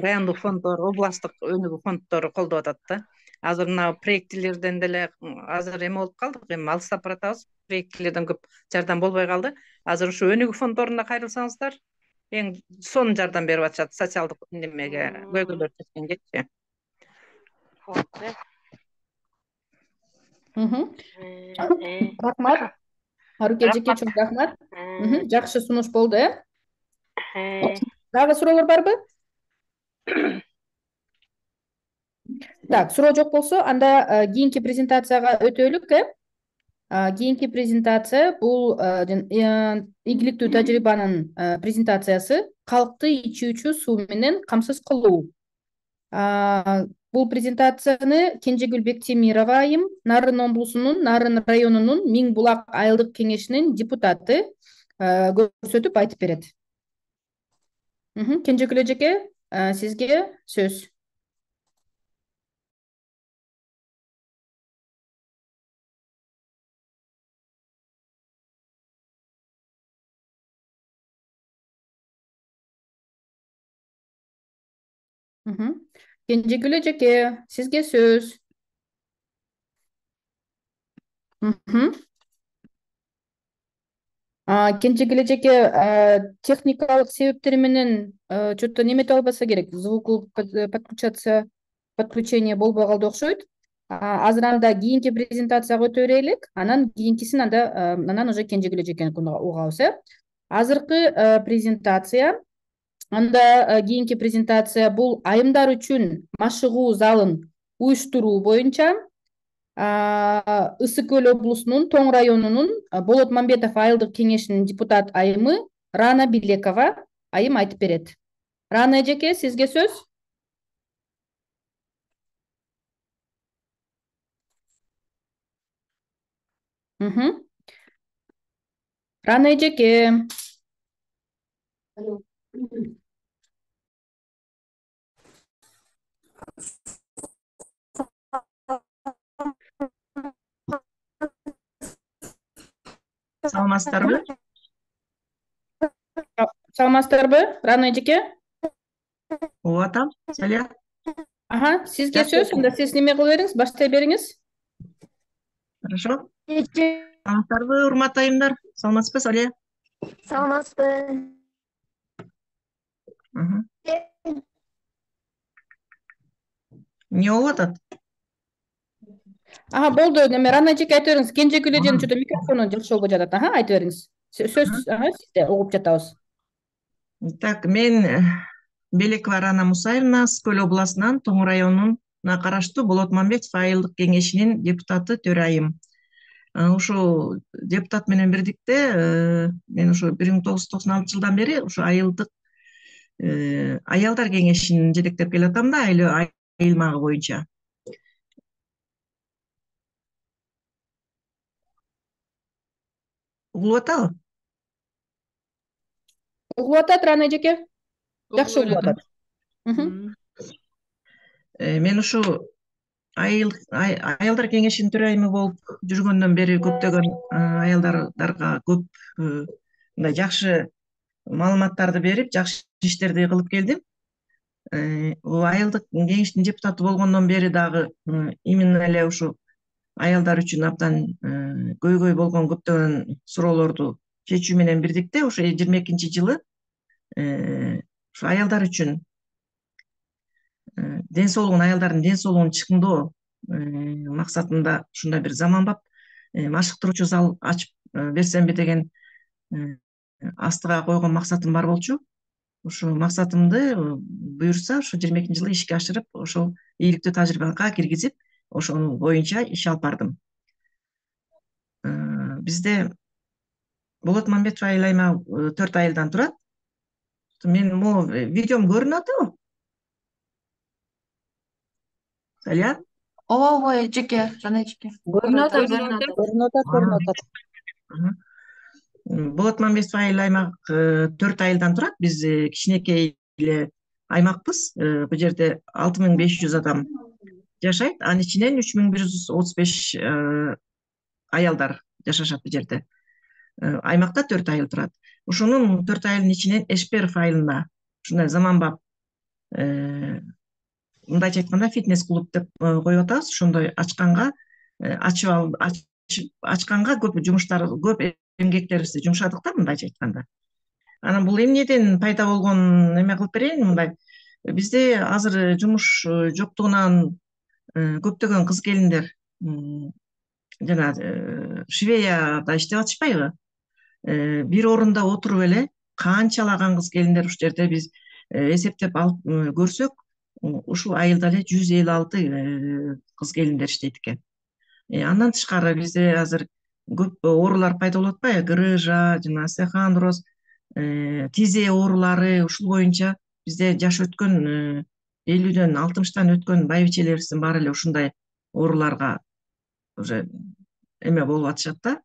D: райондук фонддор, областтык өнүгүү фонддору колдоп атат да. Азыр мына проектилерден деле азыр эме болуп калдык, эми алыстап баратабыз. Проектилерден көп жардам болбой калды. Азыр ушу өнүгүү фонддоруна кайрылсаңыздар, эң сонун жардам берип атышат социалдык немеге, көйгөйлөр чечкенгечи.
A: Рахмат. Аруке эжеке, чоң рахмат. Жакшы сунуш болду, Дагы суроолор барбы? Так, суроо жок болсо, анда кийинки презентацияга өтөлүк. Кийинки презентация бул ийгиликтүү тажрыйбанын презентациясы калкты ичүүчү суу менен камсыз кылуу. Бул презентацияны Кенжегүл Бектемирова айым Нарын облусунун Нарын районунун Миң Булак айылдык кеңешинин депутаты көрсөтүп айтып берет. Кенжегүл эжеке, сизге сөз. Кенжегүл эжеке, сизге сөз. Кенжегүл эжеке, техникалык себептер менен что-то немете албаса керек, звуку подключение болбой калды окшойт. Азыр анда кийинки презентацияга өтө берелик, анан кийинкисин анан уже Кенжегүл эжекени угабыз. Азыркы презентация, анда кийинки презентация бул айымдар үчүн машыгуу залын уюштуруу боюнча Ысык Көл облусунун Тоң районунун Болот Мамбетов айылдык кеңешинин депутат айымы Рана Билекова айым айтып берет. Рана эжеке, сизге сөз. Рана эжеке.
F: Саламатсыздарбы?
A: Саламатсыздарбы, Рана эжеке?
F: Ооба, атам, Салия.
A: Сизге сөз. Анда сиз неме кыла бериңиз, баштай бериңиз.
F: Хорошо. Саламатсыздарбы, урматтуу айымдар? Саламатсызбы, Салия?
G: Саламатсызбы.
F: Эмне болуп атат?
A: Болду, неме Рана эжеке айтып бериңиз. Кенжегүл эженин что-то микрофону жакшы болбой жатат. Айтып бериңиз. Сөз сизде, угуп жатабыз.
F: Так, мен Белекова Рана Мусаевна, Ысык Көл областынан Тоң районуна караштуу Болот Мамбетов айылдык кеңешинин депутаты, төрайым. Ушул депутат менен бирдикте мен ушу 1996 жылдан бери ушу айылдык аялдар кеңешин жетектеп келатам да, айылмагы боюнча. Угулуп атабы?
A: Угулуп атат, Рана эжеке. Жакшы угулуп атат.
F: Мен ушу аялдар кеңешинин төрайымы болуп жүргөндөн бери көптөгөн аялдарга көп мындай жакшы маалыматтарды берип, жакшы иштерди кылып келдим. Айылдык кеңештин депутаты болгондон бери дагы именно эле ушу аялдар үчүн абдан көйгөй болгон көптөгөн суроолорду чечүү менен бирдикте ошо 22-жылы ушу аялдар үчүн аялдардын ден соолугун чыңдоо максатында ушундай бир заманбап машыктыруучу зал ачып берсемби деген астыга койгон максатым бар болчу. Ушул максатымды буюрса ошо 22-жылы ишке ашырып, ошол ийгиликтүү тажрыйбага киргизип, ошонун боюнча иш алып бардым. Бизде Болот Мамбетов айыл аймагы 4 айылдан турат. Мен могу видеом көрүнүп атабы? Салия?
G: Ооба, эжеке, жана эжеке.
B: Көрүнүп атат.
F: Болот Мамбетов айыл аймагы 4 айылдан турат. Биз кичинекей эле аймакпыз. Бул жерде 6500 адам жашайт. Анын ичинен 3135 аялдар жашашат бул жерде. Аймакта 4 айыл турат. Ошонун 4 айылдын ичинен Эшперов айылына ушундай заманбап мындайча айтканда фитнес-клуб деп коюп атабыз. Ошондой ачканга көп жумуштар, көп эмгектерибизди жумшадык да, мындайча айтканда. Анан бул эмнеден пайда болгон эме кылып берейин, мындай. Бизде азыр жумуш жоктугунан көптөгөн кыз келиндер жана швеяда иштеп атышпайбы? Бир орунда отуруп эле канчалаган кыз келиндер ушул жерде биз эсептеп алып көрсөк, ушул айылда эле 156 кыз келиндер иштейт экен. Андан тышкары бизде азыр көп оорулар пайда болуп атпайбы? Грыжа, жана остеохондроз, тизе оорулары, ушул боюнча бизде жаш өткөн 50дөн 60тан өткөн байбичелерибиздин баары эле ушундай ооруларга уже эме болуп атышат да.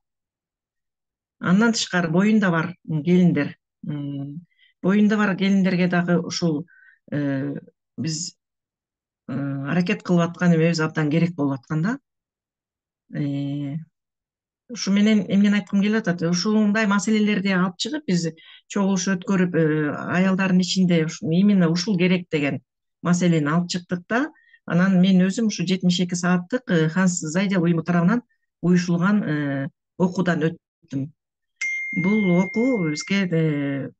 F: Андан тышкары боюнда бар келиндер. Боюнда бар келиндерге дагы ушул биз аракет кылып аткан эмебиз абдан керек болуп аткан да. Ушу менен эмнени айткым келип атат? Ушундай маселелерди алып чыгып, биз чогулуш өткөрүп, аялдардын ичинде именно ушул керек деген маселени алып чыктык да. Анан мен өзүм ушу 72 сааттык Ханс Зайдел уюму тарабынан уюшулган окуудан өттүм. Бул окуу бизге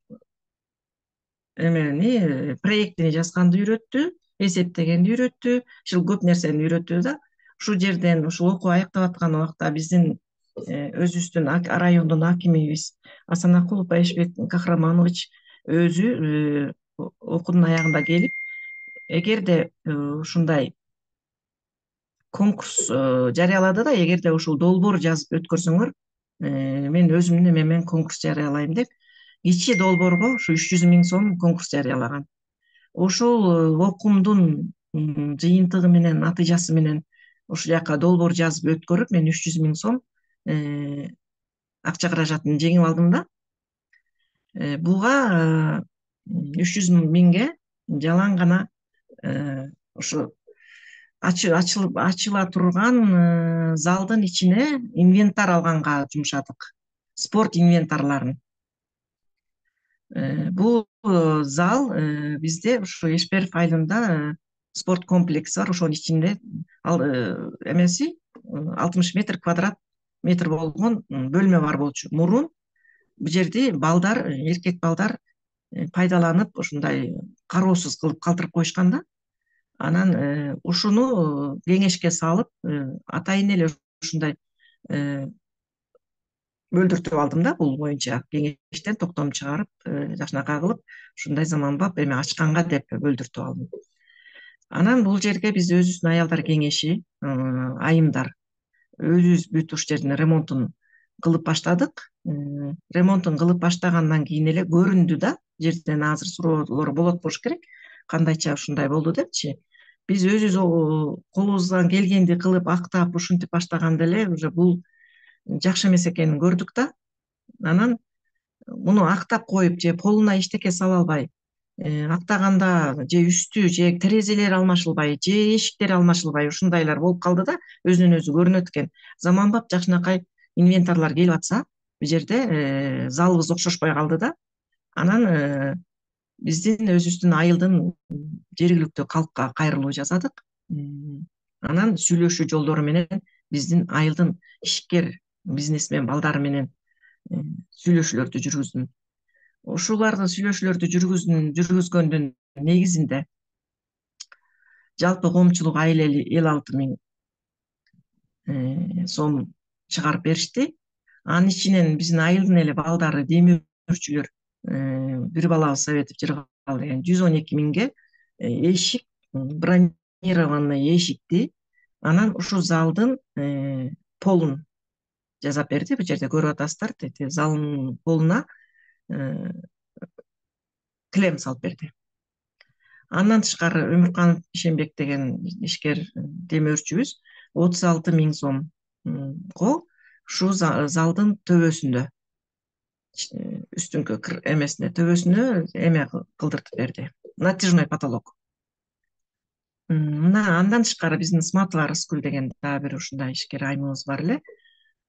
F: эмени проектини жазганды үйрөттү, эсептегенди үйрөттү, ушул көп нерсени үйрөттү да. Ушул жерден ушул окуу аяктап аткан убакта биздин өзүбүздүн райондун акимибиз Асанакулов Байшбек Кахраманович өзү окуунун аягында келип, эгерде ушундай конкурс жарыялады да, эгерде ушул долбоор жазып өткөрсөңөр, мен өзүмдүн эмемен конкурс жарыялайм деп, кичи долбоорго ушу 300 000 сом конкурс жарыялаган. Ошол окуумдун жыйынтыгы менен, натыйжасы менен ушул жака долбоор жазып өткөрүп, мен 300 000 сом акча каражатын жеңип алдым да. Буга 300 000ге жалаң гана ушу ачыла турган залдын ичине инвентар алганга жумшадык. Спорт инвентарларын. Бул зал бизде ушу Эшперов айылында спорт комплекси бар. Ошонун ичинде эмеси 60 квадрат метр болгон бөлмө бар болчу. Мурун бул жерди балдар, эркек балдар пайдаланып, ушундай кароосуз кылып калтырып коюшкан да. Анан ушуну кеңешке салып, атайын эле ушундай бөлдүртүп алдым да, бул боюнча кеңештен токтом чыгарып, жакшынакай кылып, ушундай заманбап эме ачканга деп бөлдүртүп алдым. Анан бул жерге биз өзүбүздүн аялдар кеңеши, айымдар өзүбүз бүт ушул жердин ремонтун кылып баштадык. Ремонтун кылып баштагандан кийин эле көрүндү да, жерден азыр суроолор болот болуш керек. Кандайча ушундай болду депчи. Биз өзүбүз колубуздан келгенди кылып, актап, ушинтип баштаганда эле уже бул жакшы эмес экенин көрдүк да. Анан муну актап коюп же полуна эчтеке сала албай, актаганда же үстү же терезелери алмашылбай, же эшиктери алмашылбай ушундайлар болуп калды да, өзүнөн өзү көрүнөт экен. Заманбап жакшынакай инвентарлар келип атса, бул жерде залыбыз окшошпой калды да. Анан биздин өзүбүздүн айылдын жергиликтүү калкка кайрылуу жасадык. Анан сүйлөшүү жолдору менен биздин айылдын ишкер бизнесмен балдары менен сүйлөшүүлөрдү жүргүздүм. Ушуларды сүйлөшүүлөрдү жүргүзгөндүн негизинде жалпы коомчулук айыл 56.000 сом чыгарып беришти. Анын ичинен биздин айылдын эле балдары, демөөрчүлөр, бир балабыз Советов Жыргал деген 112.000ге эшик, бронированный эшикти, анан ушул залдын полун жасап берди. Бул жерде көрүп атасыздар, тете залдын полуна клем салып берди. Андан тышкары Өмүрканов Ишенбек деген ишкер демөөрчүбүз 36.000 сомго ушул залдын төбөсүндө, үстүңкү эмесине, төбөсүнө эме кылдыртып берди, натяжной потолок. Мына андан тышкары биздин Сматова Рыскүл деген дагы бир ушундай ишкер айымыбыз бар эле.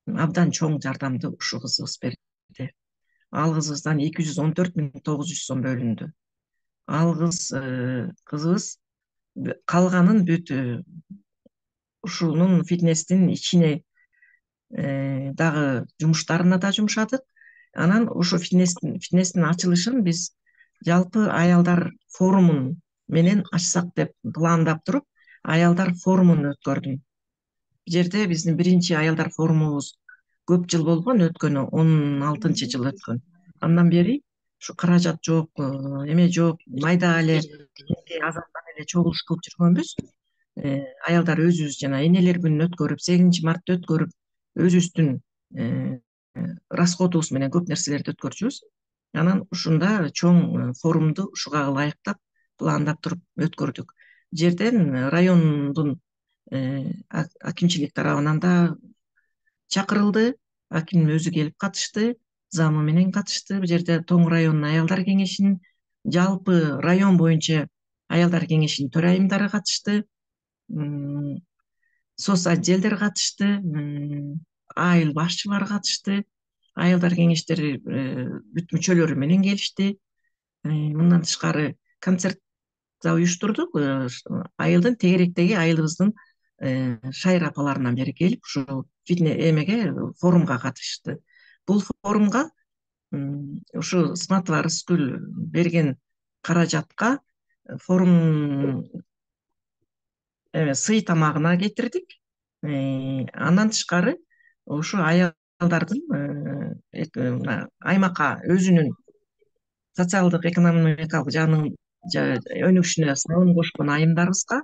F: Абдан чоң жардамды ушул кызыбыз берди. Ал кызыбыздан 214.900 сом бөлүндү. Ал кызыбыз калганын бүт ушунун фитнестин ичине дагы жумуштарына да жумшадык. Анан ушу фитнестин ачылышын биз жалпы аялдар форумун менен ачсак деп пландап туруп, аялдар форумун өткөрдүм. Бул жерде биздин биринчи аялдар форумубуз көп жыл болгон, өткөнү 16-жыл өткөн. Андан бери ушу каражат жок, эме жок, майда эле азаттан эле чогулуш кылып жүргөнбүз. Аялдар өзүбүз жана энелер күнүн өткөрүп, 8 мартты өткөрүп, өзүбүздүн расходубуз менен көп нерселерди өткөрчүбүз. Анан ушунда чоң форумду ушуга ылайыктап пландап туруп өткөрдүк. Жерден райондун акимчилик тарабынан да чакырылды, аким өзү келип катышты, замы менен катышты. Бул жерде Тоң районунун аялдар кеңешинин, жалпы район боюнча аялдар кеңешинин төрайымдары катышты, соц отделдер катышты, айыл башчылары катышты, аялдар кеңештери бүт мүчөлөрү менен келишти. Мындан тышкары концерт да уюштурдук. Айылдын тегеректеги айылыбыздын шайыр апаларынан бери келип, ушул эмеге, форумга катышты. Бул форумга ушу Сматова Рыскүл берген каражатка форум сый тамагына кетирдик. Андан тышкары ушу аялдардын аймакка өзүнүн социалдык экономикалык жагынын өнүгүшүнө салым кошкон айымдарыбызга,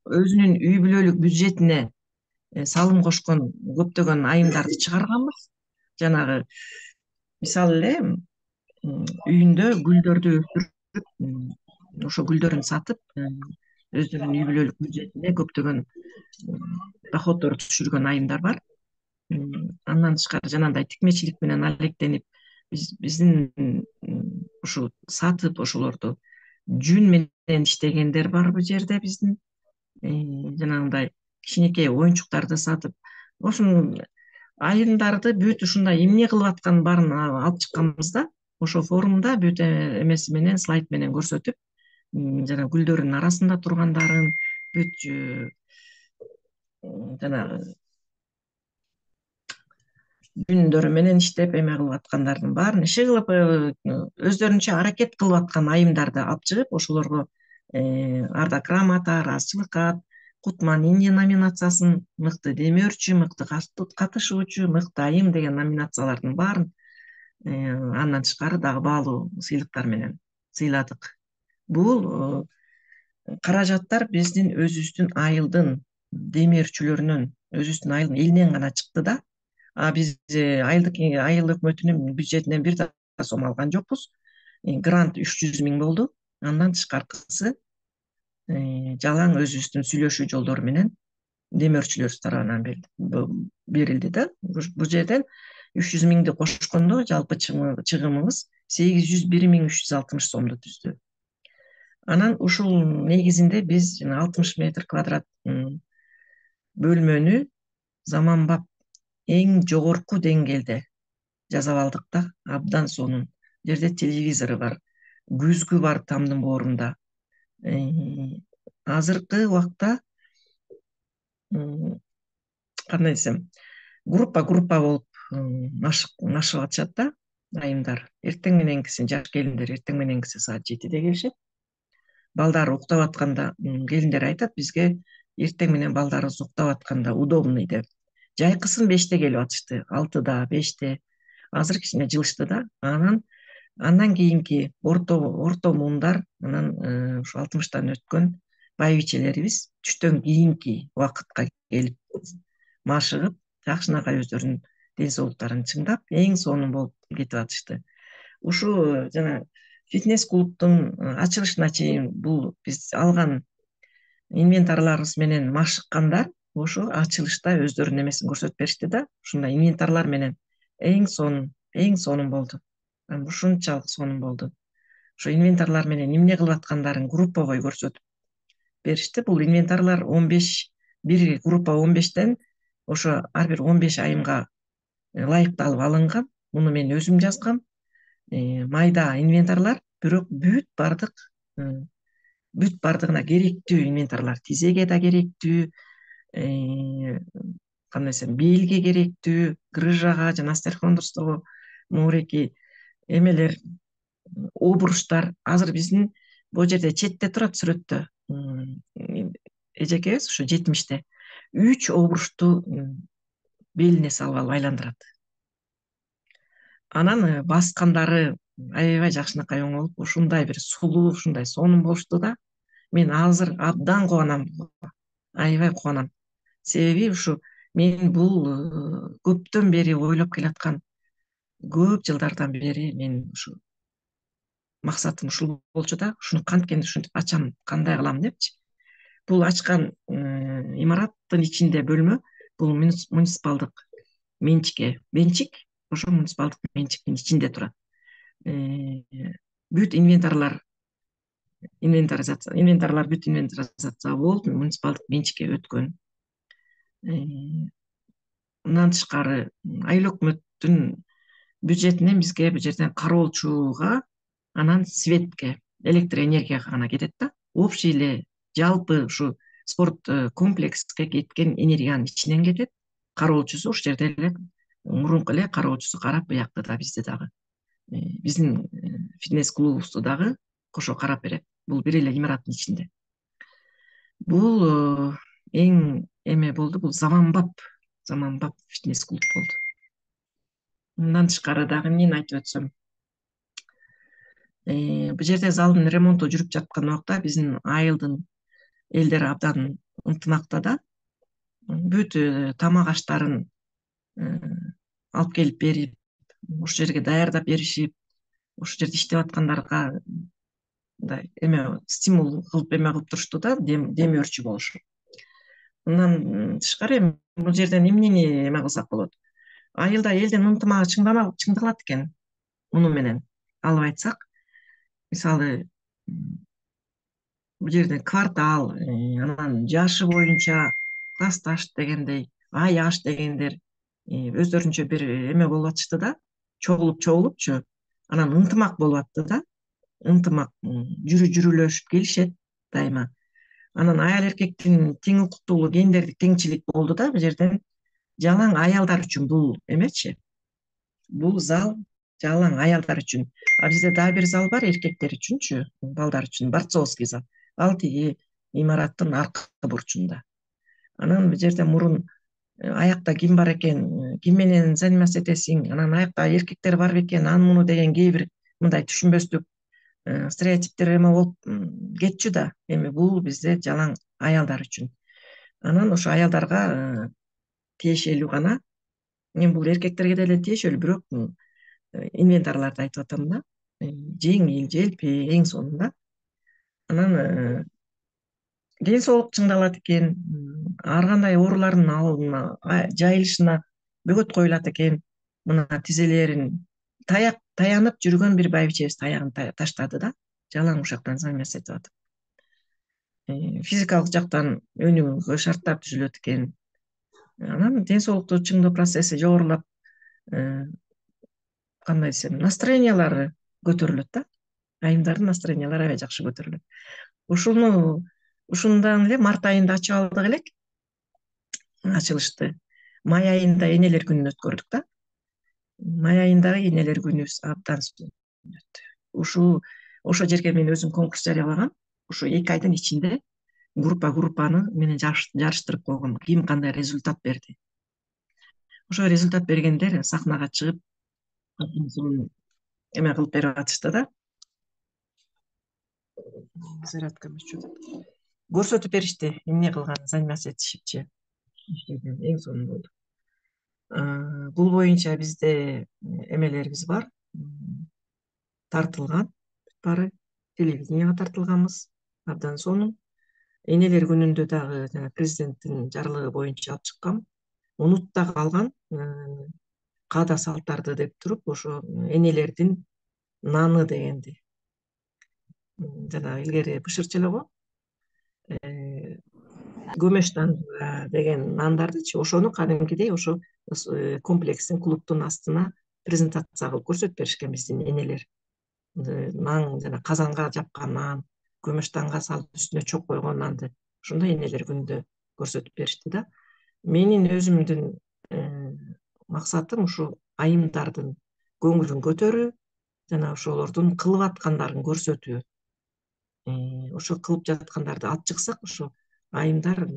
F: өзүнүн үй бүлөлүк бюджетине салым кошкон көптөгөн айымдарды чыгарганбыз. Жанагы мисалы эле үйүндө гүлдөрдү өстүрүп, ошо гүлдөрүн сатып, өзүнүн үй бүлөлүк бюджетине көптөгөн доходдор түшүргөн айымдар бар. Андан тышкары жанагындай тикмечилик менен алектенип, биздин ушу сатып, ошолорду жүн менен иштегендер бар бул жерде. Биздин жанагындай кичинекей оюнчуктарды сатып, ошонун айымдарды бүт ушундай эмне кылып атканын баарын алып чыкканбыз да, ошо форумда бүт эмеси менен, слайд менен көрсөтүп, жана гүлдөрдүн арасында тургандарын, бүт жанагы жүндөрү менен иштеп эме кылып аткандардын баарын иши кылып, өздөрүнчө аракет кылып аткан айымдарды алып чыгып, ошолорго арда грамота, ыраазычылык кат, Кутман-Инди номинациясын, мыкты демөөрчү, мыкты катышуучу, мыкты айым деген номинациялардын баарын андан тышкары дагы баалуу сыйлыктар менен сыйладык. Бул каражаттар биздин өзүбүздүн айылдын демөөрчүлөрүнөн, өзүбүздүн айылдын элинен гана чыкты да. Биз айыл өкмөтүнүн бюджетинен бир да сом алган жокпуз. Грант 300.000 болду. Андан тышкаркысы жалаң өзүбүздүн сүйлөшүү жолдору менен демөөрчүлөр тарабынан берилди да. Бул жерден 300.000ди кошкондо жалпы чыгымыбыз 801.360 сомду түздү. Анан ушул негизинде биз 60 метр квадрат бөлмөнү заманбап эң жогорку деңгээлде жасап алдык да, абдан сонун. Жерде телевизору бар, күзгү бар тамдын боорунда. Азыркы убакта кандай десем, группа болуп машыгып атышат да айымдар. Эртең мененкиси жаш келиндер эртең мененкиси саат 7-де келишет. Балдар уктап атканда келиндер айтат бизге эртең менен балдарыбыз уктап атканда удобный деп. Жайкысын 5-те келип атышты, 6-да, 5-те. Азыр кичине жылышты да. Андан кийинки орто муундар, анан ушу 60-тан өткөн байбичелерибиз түштөн кийинки убакытка келип машыгып, жакшынакай өздөрүнүн ден соолуктарын чыңдап, эң сонун болуп кетип атышты. Ушу жана фитнес клубдун ачылышына чейин бул биз алган инвентарларыбыз менен машыккандар ошо ачылышта өздөрүнүн эмесин көрсөтүп беришти да. Ушундай инвентарлар менен эң сонун болду. Ушунчалык сонун болду. Ошо инвентарлар менен эмне кылып аткандарын групповой көрсөтүп беришти. Бул инвентарлар 15, бир группа 15-тен ошо ар бир 15 айымга ылайыкталып алынган. Муну мен өзүм жазгам. Майда инвентарлар, бирок бүт бардыгына керектүү инвентарлар. Тизеге да керектүү, кандай десем, белге керектүү, грыжага жана остерхондростого моореки эмелер, обруштар. Азыр биздин бул жерде четте турат сүрөттө. Эжекебиз ушу 70-те 3 обрушту белине салып алып айландырат. Анан баскандары аябай жакшынакай оңолуп, ушундай бир сулуу, ушундай сонун болушту да. Мен азыр абдан кубанам. Аябай кубанам. Себеби ушу мен бул көптөн бери ойлоп келаткан, көп жылдардан бери мен ушу максатым ушул болчу да. Ушуну канткен ушинтип ачам, кандай кылам депчи. Бул ачкан имараттын ичинде бөлмө, бул муниципалдык менчик, ошо муниципалдык менчиктин ичинде турат. Бүт инвентарлар бүт инвентаризация болуп, муниципалдык менчикке өткөн. Мындан тышкары айыл өкмөттүн бюджетинен бизге бул жерден кароолчуга, анан светке, электр энергияга гана кетет да. Общий эле жалпы ушу спорт комплекске кеткен энергиянын ичинен кетет. Кароолчусу ушул жерде эле мурунку эле кароолчусу карап, буякта да бизди дагы биздин фитнес клубубузду дагы кошо карап берет. Бул бир эле имараттын ичинде. Бул эң эме болду, бул заманбап фитнес клуб болду. Мындан тышкары дагы эмнени айтып өтсөм, бул жерде залдын ремонту жүрүп жаткан убакта биздин айылдын элдери абдан ынтымакта да. Бүт тамак аштарын алып келип берип, ошол жерге даярдап беришип, ошол жерде иштеп аткандарга мындай эме стимул кылып кылып турушту да, дем өрчү болушу. Мындан тышкары бул жерден эмнени эме кылсак болот? Айылда элдин ынтымагы чыңдалат экен. Муну менен алып айтсак, мисалы бул жерден квартал, анан жашы боюнча классташ дегендей, аяш дегендер өздөрүнчө бир эме болуп атышты да, чогулупчу, анан ынтымак болуп атты да. Ынтымак жүрүлөшүп келишет дайыма. Анан аял эркектин тең укуктуулугу, гендердик теңчилик болду да. Бул жерден жалаң аялдар үчүн бул эмечи. Бул зал жалаң аялдар үчүн. А бизде дагы бир зал бар эркектер үчүнчү, балдар үчүн, борцовский зал. Ал тиги имараттын аркы бурчунда. Анан бул жерде мурун аякта ким бар экен, ким менен заниматься этесиң, анан аякта эркектер бар бекен, аны деген кээ бир мындай түшүнбөстүк стереотиптер эме болуп кетчү да. Эми бул бизде жалаң аялдар үчүн. Анан ошо аялдарга тиешелүү гана. Мен бул эркектерге деле тиешелүү, бирок инвентарларды айтып атам да. Жеңил, желпи, эң сонун да. Анан ден соолук чыңдалат экен, ар кандай оорулардын алдына, жайылышына бөгөт коюлат экен. Мына тизелерин таянып жүргөн бир байбичебиз таягын таштады да, жалаң ушактан заниматься этип атып. Физикалык жактан өнүгүүгө шарттар түзүлөт экен. Анан ден соолукту чыңдоо процесси жогорулап, кандай десем, настроениялары көтөрүлөт да. айымдардын настроениялары аябай жакшы көтөрүлөт. Ушундан эле март айында ачып алдык элек ачылышты. Май айында энелер күнүн өткөрдүк да. Май айындагы энелер күнүбүз абдан өттү. Ошо жерге мен өзүм конкурс жарыялагам. Ошо 2 айдын ичинде группаны менен жарыштырып койгом. Ким кандай результат берди. Ошо результат бергендер сахнага чыгып эме кылып берип атышты да. Көрсөтүп беришти, эмне кылган, заниматься этишипчи. Эң сонун болду. Бул боюнча бизде эмелерибиз бар. Тартылган баары телевиденияга тартылганбыз. Абдан сонун. Энелер күнүндө дагы президенттин жарлыгы боюнча алып чыккам. Унут да калган каада салттарды деп туруп, ошо энелердин наны дегенди. Жана илгери бышырчы эле го. Көмөштан деген нандардычы, ошону кадимкидей ошо комплекстин клубтун астына презентация кылып көрсөтүп беришкен биздин энелер. Нан жана казанга жапкан нан, көмөштанга салып үстүнө чок койгон нанды ошондой энелер күнүндө көрсөтүп беришти да. Менин өзүмдүн максатым ушу айымдардын көңүлүн көтөрүү жана ошолордун кылып аткандарын көрсөтүү. Ошо кылып жаткандарды алып чыксак, ошо айымдар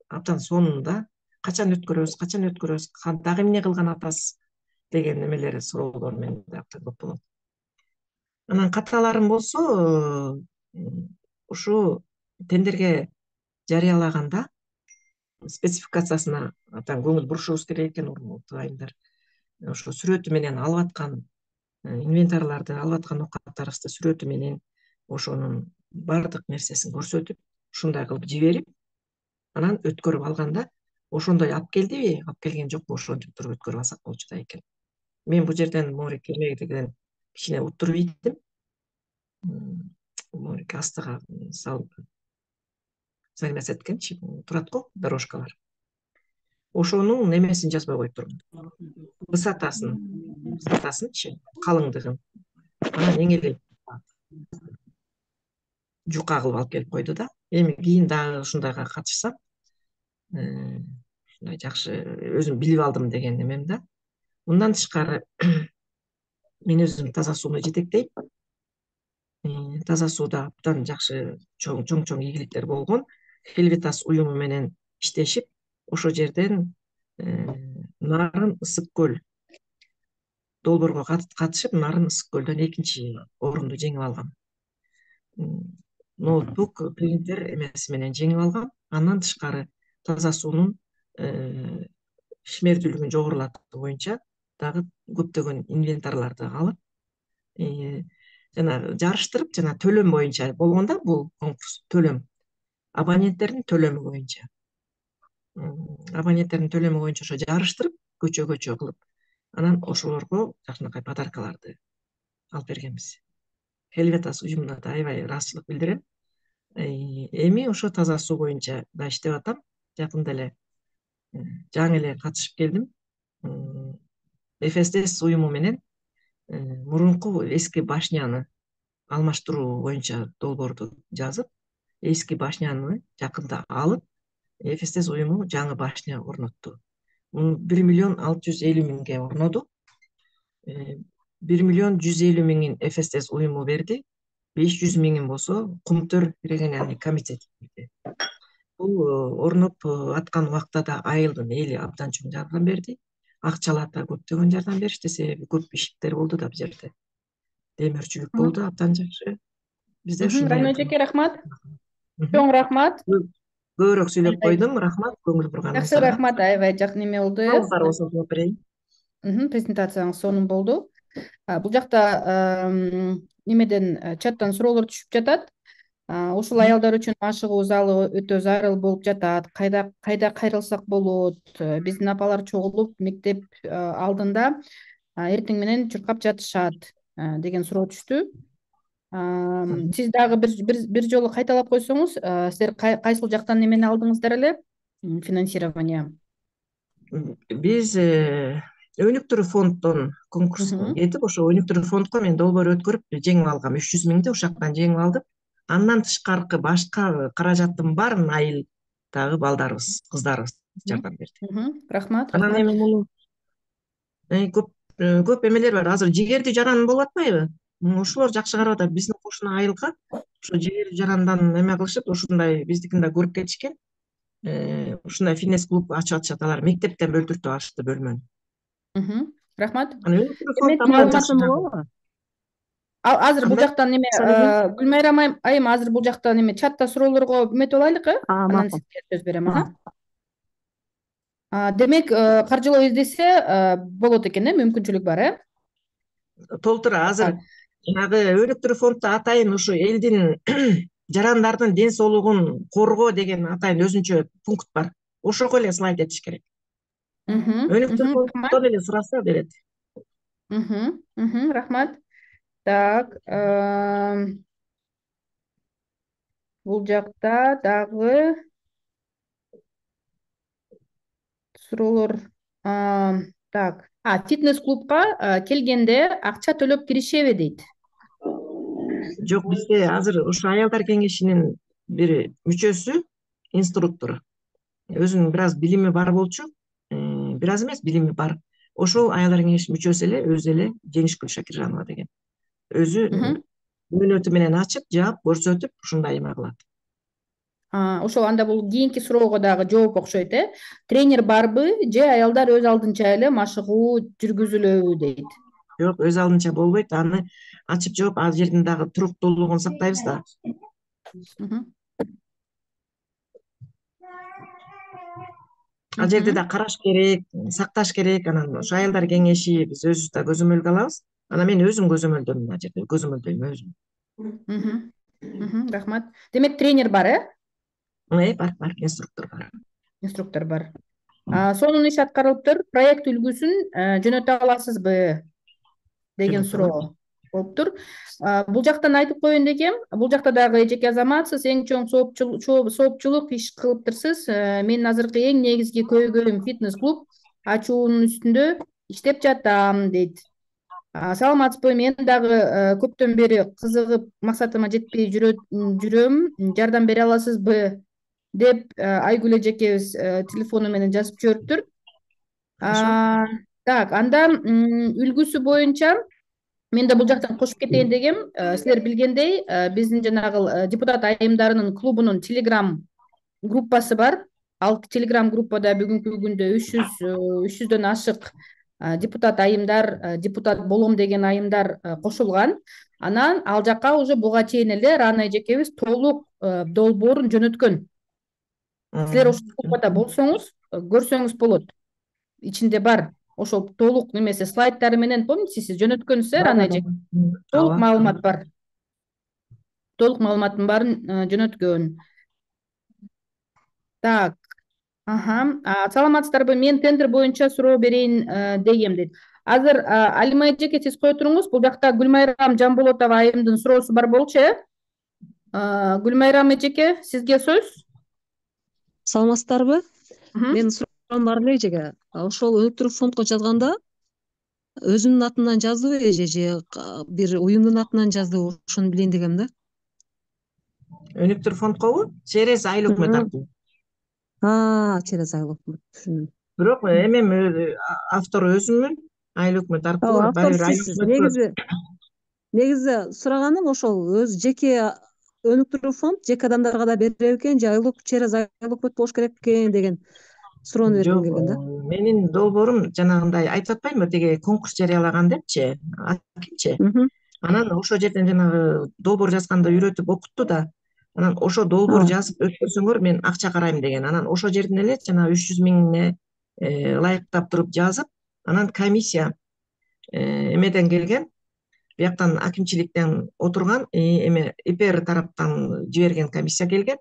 F: абдан сонун да. Качан өткөрөбүз, дагы эмне кылган атасыз деген эмелер, суроолор менде абдан көп болот. Анан каталарым болсо, ушу тендерге жарыялаганда спецификациясына абдан көңүл бурушубуз керек экен, урматтуу айымдар. Ошо сүрөтү менен алып аткан инвентарларды, алып аткан оокаттарыбызды сүрөтү менен ошонун бардык нерсесин көрсөтүп, ушундай кылып жиберип, анан өткөрүп алганда, ошондой алып келдиби, алып келген жокпу, ошентип туруп өткөрүп алсак болчу да экен. Мен бул жерден Морике эмегеден кичине уттуруп ийттим. Морике астыга салып заниматься эткенчи, турат го дорожкалар. Ошонун немесин жазбай коюптурмун. Высотасынчы, калыңдыгын. Анан эң эле жука кылып алып келип койду да. Эми кийин дагы ушундайга катышсам, ушундай жакшы өзүм билип алдым деген эмем да. Мындан тышкары мен өзүм таза сууну жетектейм. Таза сууда абдан жакшы чоң ийгиликтер болгон. Helvetas уюму менен иштешип, ошо жерден Нарын Ысык көл долбоорго катышып, Нарын Ысык көлдөн 2-чи орунду жеңип алгам. Ноутбук, принтер эмеси менен жеңип алгам. Андан тышкары таза суунун ишмердүүлүгүн жогорулатуу боюнча дагы көптөгөн инвентарларды алып, жана жарыштырып, жана төлөм боюнча болгондо бул конкурс төлөм. Абоненттердин төлөмү боюнча. Ошо жарыштырып, көчө кылып, анан ошолорго жакшынакай подаркаларды алып бергенбиз. Helvetas уюмуна да аябай ыраазычылык билдирем. Эми ошо таза суу боюнча да иштеп атам. Жакында эле жаңы эле катышып келдим. FSDS уюму менен мурунку эски башняны алмаштыруу боюнча долбоорду жазып, эски башняны жакында алып, FSDS уюму жаңы башня орнотту. 1.650.000 орноду. 1.150.000 FSDS уюму берди. 500.000 болсо Кумтөр региональный комитет берди. Бул орноп аткан убакта да айылдын эли абдан чоң жардам берди. Акчалата көптөгөн жардам беришти, себеби көп иштер болду да бул жерде. Демирчүлүк болду, абдан жакшы. Бизде ушундай.
A: Райно эжеке, рахмат. Чоң рахмат.
F: Көбүрөөк сүйлөп койдум, рахмат көңүл бурганыңызга.
A: Жакшы, рахмат, аябай жакын эме болду.
F: Суроолор болсо жооп берейин.
A: Презентацияңыз сонун болду. Бул жакта немеден чаттан суроолор түшүп жатат. Ушул аялдар үчүн ашыгуу залы өтө зарыл болуп жатат. Кайда кайрылсак болот? Биздин апалар чогулуп мектеп алдында эртең менен чуркап жатышат деген суроо түштү. Сиз дагы бир жолу кайталап койсоңуз, силер кайсыл жактан эмени алдыңыздар эле? Финансирование.
F: Биз өнүктүрүү фонддон конкурс кетип, ошо өнүктүрүү фондко мен долбоор өткөрүп жеңип алгам. 300 миңди ошол жактан жеңип алдым. Андан тышкаркы башка каражаттын баарын айылдагы балдарыбыз, кыздарыбыз жардам берди.
A: Рахмат.
F: Анан эми муну көп эмелер бар. Азыр жигерди жаран болуп атпайбы? Ошолор жакшы карап атат. Биздин кошуна айылга ошо жигерди жарандан эме кылышып, ушундай биздикин да көрүп кетишкен. Ушундай фитнес клуб ачып атышат. Алар мектептен бөлтүртүп алышты бөлмөнү.
A: Рахмат.
G: Маалыматым болобу?
A: Азыр бул жактан неме Гүлмайрам айым азыр бул жактан неме чатта суроолорго үмүт алайлыкы? Анан сизге сөз берем. Демек, каржылоо издесе болот экен, мүмкүнчүлүк бар,
F: Толтура азыр жанагы өнүктүрүү фонддо атайын ушу элдин жарандардын ден соолугун коргоо деген атайын өзүнчө пункт бар. Ошого эле слайд этиш керек. Өнүктүрүү фонддон эле сураса берет.
A: Рахмат. Так, бул жакта дагы суроолор. Так, фитнес клубка келгенде акча төлөп киришеби дейт.
F: Жок, бизде азыр ошо аялдар кеңешинин бир мүчөсү, инструктор. Өзүнүн бир аз билими бар болчу, бир аз эмес, билими бар. Ошол аялдар кеңешинин мүчөсү эле, өзү эле Женишгүл Шакиржанова деген. Өзү мөөнөтү менен ачып, жаап, көрсөтүп, ушундай эме кылат.
A: Ошол анда бул кийинки суроого дагы жооп окшойт, Тренер барбы же аялдар өз алдынча эле машыгуу жүргүзүлөбү дейт.
F: Жок, өз алдынча болбойт. Аны ачып жооп, ал жердин дагы туруктуулугун сактайбыз да. Ал жерде да караш керек, сакташ керек. Анан ошо аялдар кеңеши биз өзүбүз да көзөмөлгө алабыз. Анан мен өзүм көзөмөлдөйм, ал жерде көзөмөлдөйм өзүм.
A: Рахмат. Демек, тренер бар,
F: бар, инструктор бар.
A: Сонун иш аткарылыптыр. Проект үлгүсүн жөнөтө аласызбы деген суроо болуптур. Бул жактан айтып коеюн дегем, бул жакта дагы эжеке азаматсыз, эң чоң соопчулук иш кылыптырсыз. Менин азыркы эң негизги көйгөйүм фитнес клуб ачуунун үстүндө иштеп жатам дейт. Саламатсызбы? Мен дагы көптөн бери кызыгып максатыма жетпей жүрөм. Жардам бере аласызбы деп Айгүл эжекебиз телефону менен жазып жибериптир. Так, анда үлгүсү боюнча мен да бул жактан кошуп кетейин дегем. Силер билгендей, биздин жанагы депутат айымдарынын клубунун телеграм группасы бар. Ал телеграм группада бүгүнкү күндө 300дөн ашык депутат айымдар, депутат болом деген айымдар кошулган. Анан ал жака уже буга чейин эле Рана эжекебиз толук долбоорун жөнөткөн. Силер ошол группада болсоңуз, көрсөңүз болот. Ичинде бар. Ошол толук немесе слайдтары менен, помните, сиз жөнөткөнсүз, Рана эже? Толук маалымат бар. Толук маалыматтын баарын жөнөткөн. Так. Саламатсыздарбы? Мен тендер боюнча суроо берейин дегем дейт. Азыр Алима эжеке, сиз кое туруңуз. Бул жакта Гүлмайрам Жамболотова айымдын суроосу бар болчу, Гүлмайрам эжеке, сизге сөз.
H: Саламатсыздарбы? Мен суроом бар эле эжеке. Ошол өнүктүрүү фондко жазганда өзүнүн атынан жаздыбы эже же бир уюмдун атынан жаздыбы? Ошону билейин дегем да.
F: Өнүктүрүү фондкобу? Через айыл өкмөт аркылуу.
H: Через айыл өкмөт. Түшүндүм.
F: Бирок эми автору өзүмүн, айыл өкмөт аркылуу.
H: Негизи сураганым ошол өз жеке өнүктүрүү фонд жеке адамдарга да берер экен же через айыл өкмөт болуш керек экен деген суроону бергим келген да.
F: Менин долбоорум жанагындай айтып атпаймынбы, теге конкурс жарыялаган депчи, акимчи. Анан ошол жерден жанагы долбоор жазганда үйрөтүп окутту да. Анан ошо долбоор жазып өткөрсөңөр мен акча карайм деген. Анан ошол жерден эле жана 300 миңне ылайыктап туруп жазып, анан комиссия эмеден келген, бияктан акимчиликтен отурган, ИПР тараптан жиберген комиссия келген.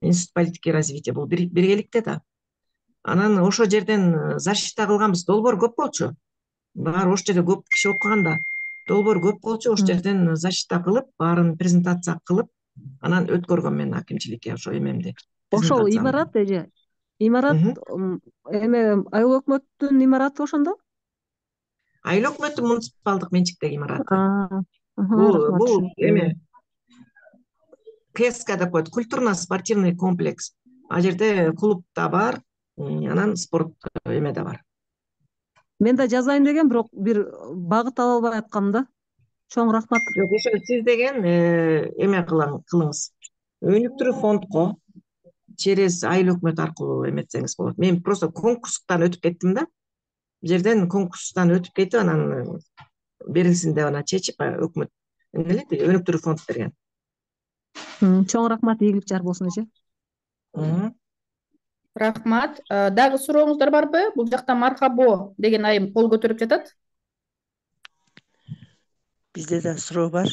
F: Институт политики и развития, бул биргеликте да. Анан ошол жерден защита кылганбыз. Долбоор көп болчу. Баары ошол жерде көп киши окуган да. Долбоор көп болчу, ошол жерден защита кылып, баарын презентация кылып, анан өткөргөм мен акимчиликке ошо эмемди.
H: Ошол имарат эже. Имарат эме айыл өкмөттүн имараты ошондо?
F: Айыл өкмөтү муниципалдык менчиктеги имараты.
H: Рахмат.
F: Бул эме КСК деп коет, культурно-спортивный комплекс. Ал жерде клуб да бар, анан спорт эме да бар.
H: Мен да жазайын деген, бирок бир багыт ала албай аткам да. Чоң рахмат.
F: Жок, ошо сиз деген эме кылыңыз. Өнүктүрүү фондко через айыл өкмөт аркылуу эметсеңиз болот. Мен просто конкурстан өтүп кеттим да. Бул жерден конкурстан өтүп кетип, анан берилсин деп анан чечип, өкмөт өнүктүрүү фонд берген.
H: Чоң рахмат, ийгилик жар болсун эже.
A: Рахмат. Дагы сурооңуздар барбы? Бул жакта Мархабо деген айым кол көтөрүп жатат.
G: Бизде да суроо бар.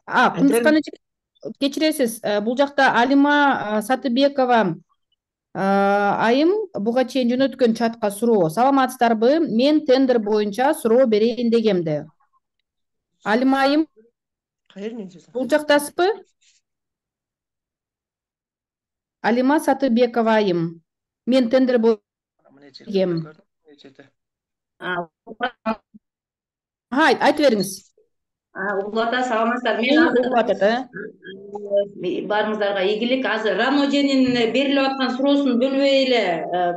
A: Кундускан эже, кечиресиз. Бул жакта Алима Сатыбекова айым буга чейин жөнөткөн чатка суроо. Саламатсыздарбы? Мен тендер боюнча суроо берейин дегемди. Алима айым, бул жактасызбы? Алима Сатыбекова айым. Мен тендер боюнча айтып бериңиз.
I: Улата, саламатсыздар. Мен баарыңыздарга ийгилик. Азыр Раноженин берилип аткан суроосун бөлбөй эле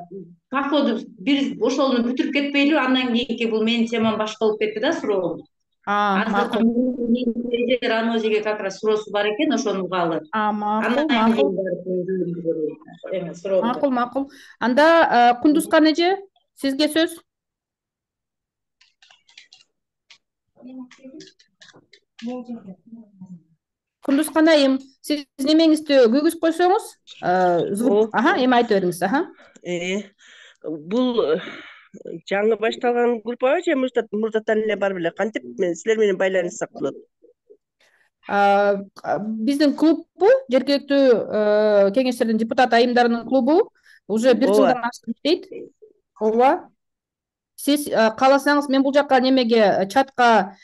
I: подходу бир ошону бүтүрүп кетпейлиби? Андан кийинки бул менин темам башка болуп кетти да суроом. Азыр Раножеге как раз суроосу бар экен, ошону угалы.
A: Макул. Анда Кундускан эже, сизге сөз. Кундускан айым, сиз немеңизди күйгүзүп койсоңуз, эми айтып бериңиз.
G: Бул жаңы башталган группабы же мурдатан эле бар беле? Кантип силер менен байланыссак болот?
A: Биздин клуббу, жергиликтүү кеңештердин депутат айымдарынын клубу уже 1 жылдан ашык иштейт. Ооба. Сиз кааласаңыз, мен бул жакка немеге чатка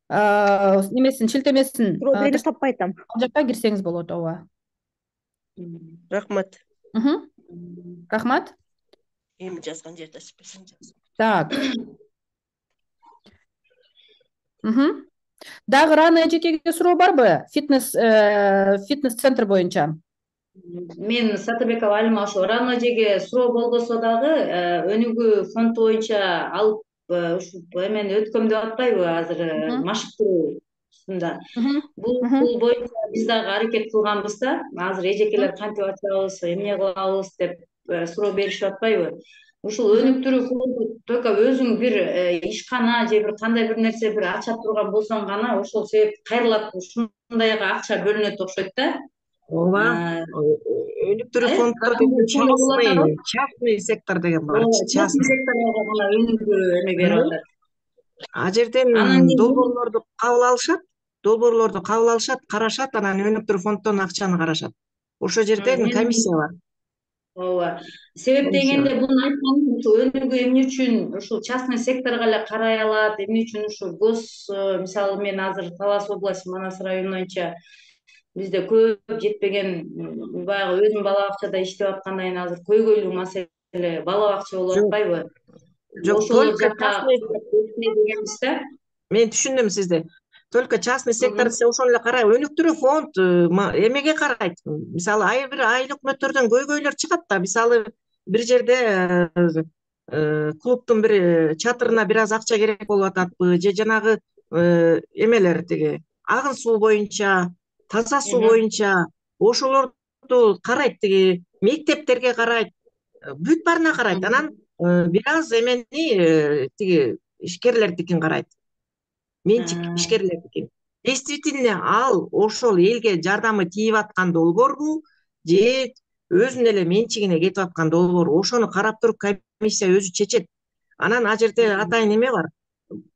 A: немесин, шилтемесин
G: берип таппай атам.
A: Ал жакка кирсеңиз болот, ооба.
G: Рахмат.
A: Рахмат.
G: Эми жазган жерде спесен жаз.
A: Так. Дагы Рана эжекеге суроо барбы? Фитнес центр боюнча.
I: Мен Сатыбекова Алима, ошо Рана эжеге суроо болбосо дагы өнүгүү фонд боюнча алып ушу эмени өткөм деп атпайбы азыр машыктыруусунда. Бул боюнча биз дагы аракет кылганбыз да. Азыр эжекелер кантип ачабыз, эмне кылабыз деп суроо беришип атпайбы? Ушул өнүктүрүү фонду только өзүң бир ишкана же бир кандай бир нерсе бир ача турган болсоң гана ошол себеп кайрылат, ушундайга акча бөлүнөт окшойт да.
F: Ооба. Өнүктүрүү фонддор деген частный сектор деген бар.
I: Частный секторго гана өнүгүү эме берип атат.
F: А жерден долбоорлорду кабыл алышат, карашат, анан өнүктүрүү фонддон акчаны карашат. Ошо жерден комиссия бар.
I: Ооба. Себеп дегенде бул айтканым, ушул өнүгүү эмне үчүн ушул частный секторго эле карай алат, эмне үчүн ушул гос, мисалы мен азыр Талас области Манас району боюнча бизде көп жетпеген, баягы өзүм бала бакчада иштеп аткандан кийин азыр көйгөйлүү маселе бала бакча болуп атпайбы?
F: Жок, только частный
I: дегенбиз да.
F: Мен түшүндүм сизди. Только частный сектор десе ошону эле карай. Өнүктүрүү фонд эмеге карайт. Мисалы, бир айыл өкмөттөрдөн көйгөйлөр чыгат да. Мисалы, бир жерде клубдун бир чатырына бир аз акча керек болуп ататпы, же жанагы эмелер тиги агын суу боюнча, таза суу боюнча ошолорду карайт, тиги мектептерге карайт, бүт баарына карайт. Анан бир аз эмени тиги ишкерлердикин карайт. Менчик ишкерлердикин. Действительно ал ошол элге жардамы тийип аткан долбоорбу же өзүнүн эле менчигине кетип аткан долбоорбу? Ошону карап туруп комиссия өзү чечет. Анан ал жерде атайын эме бар.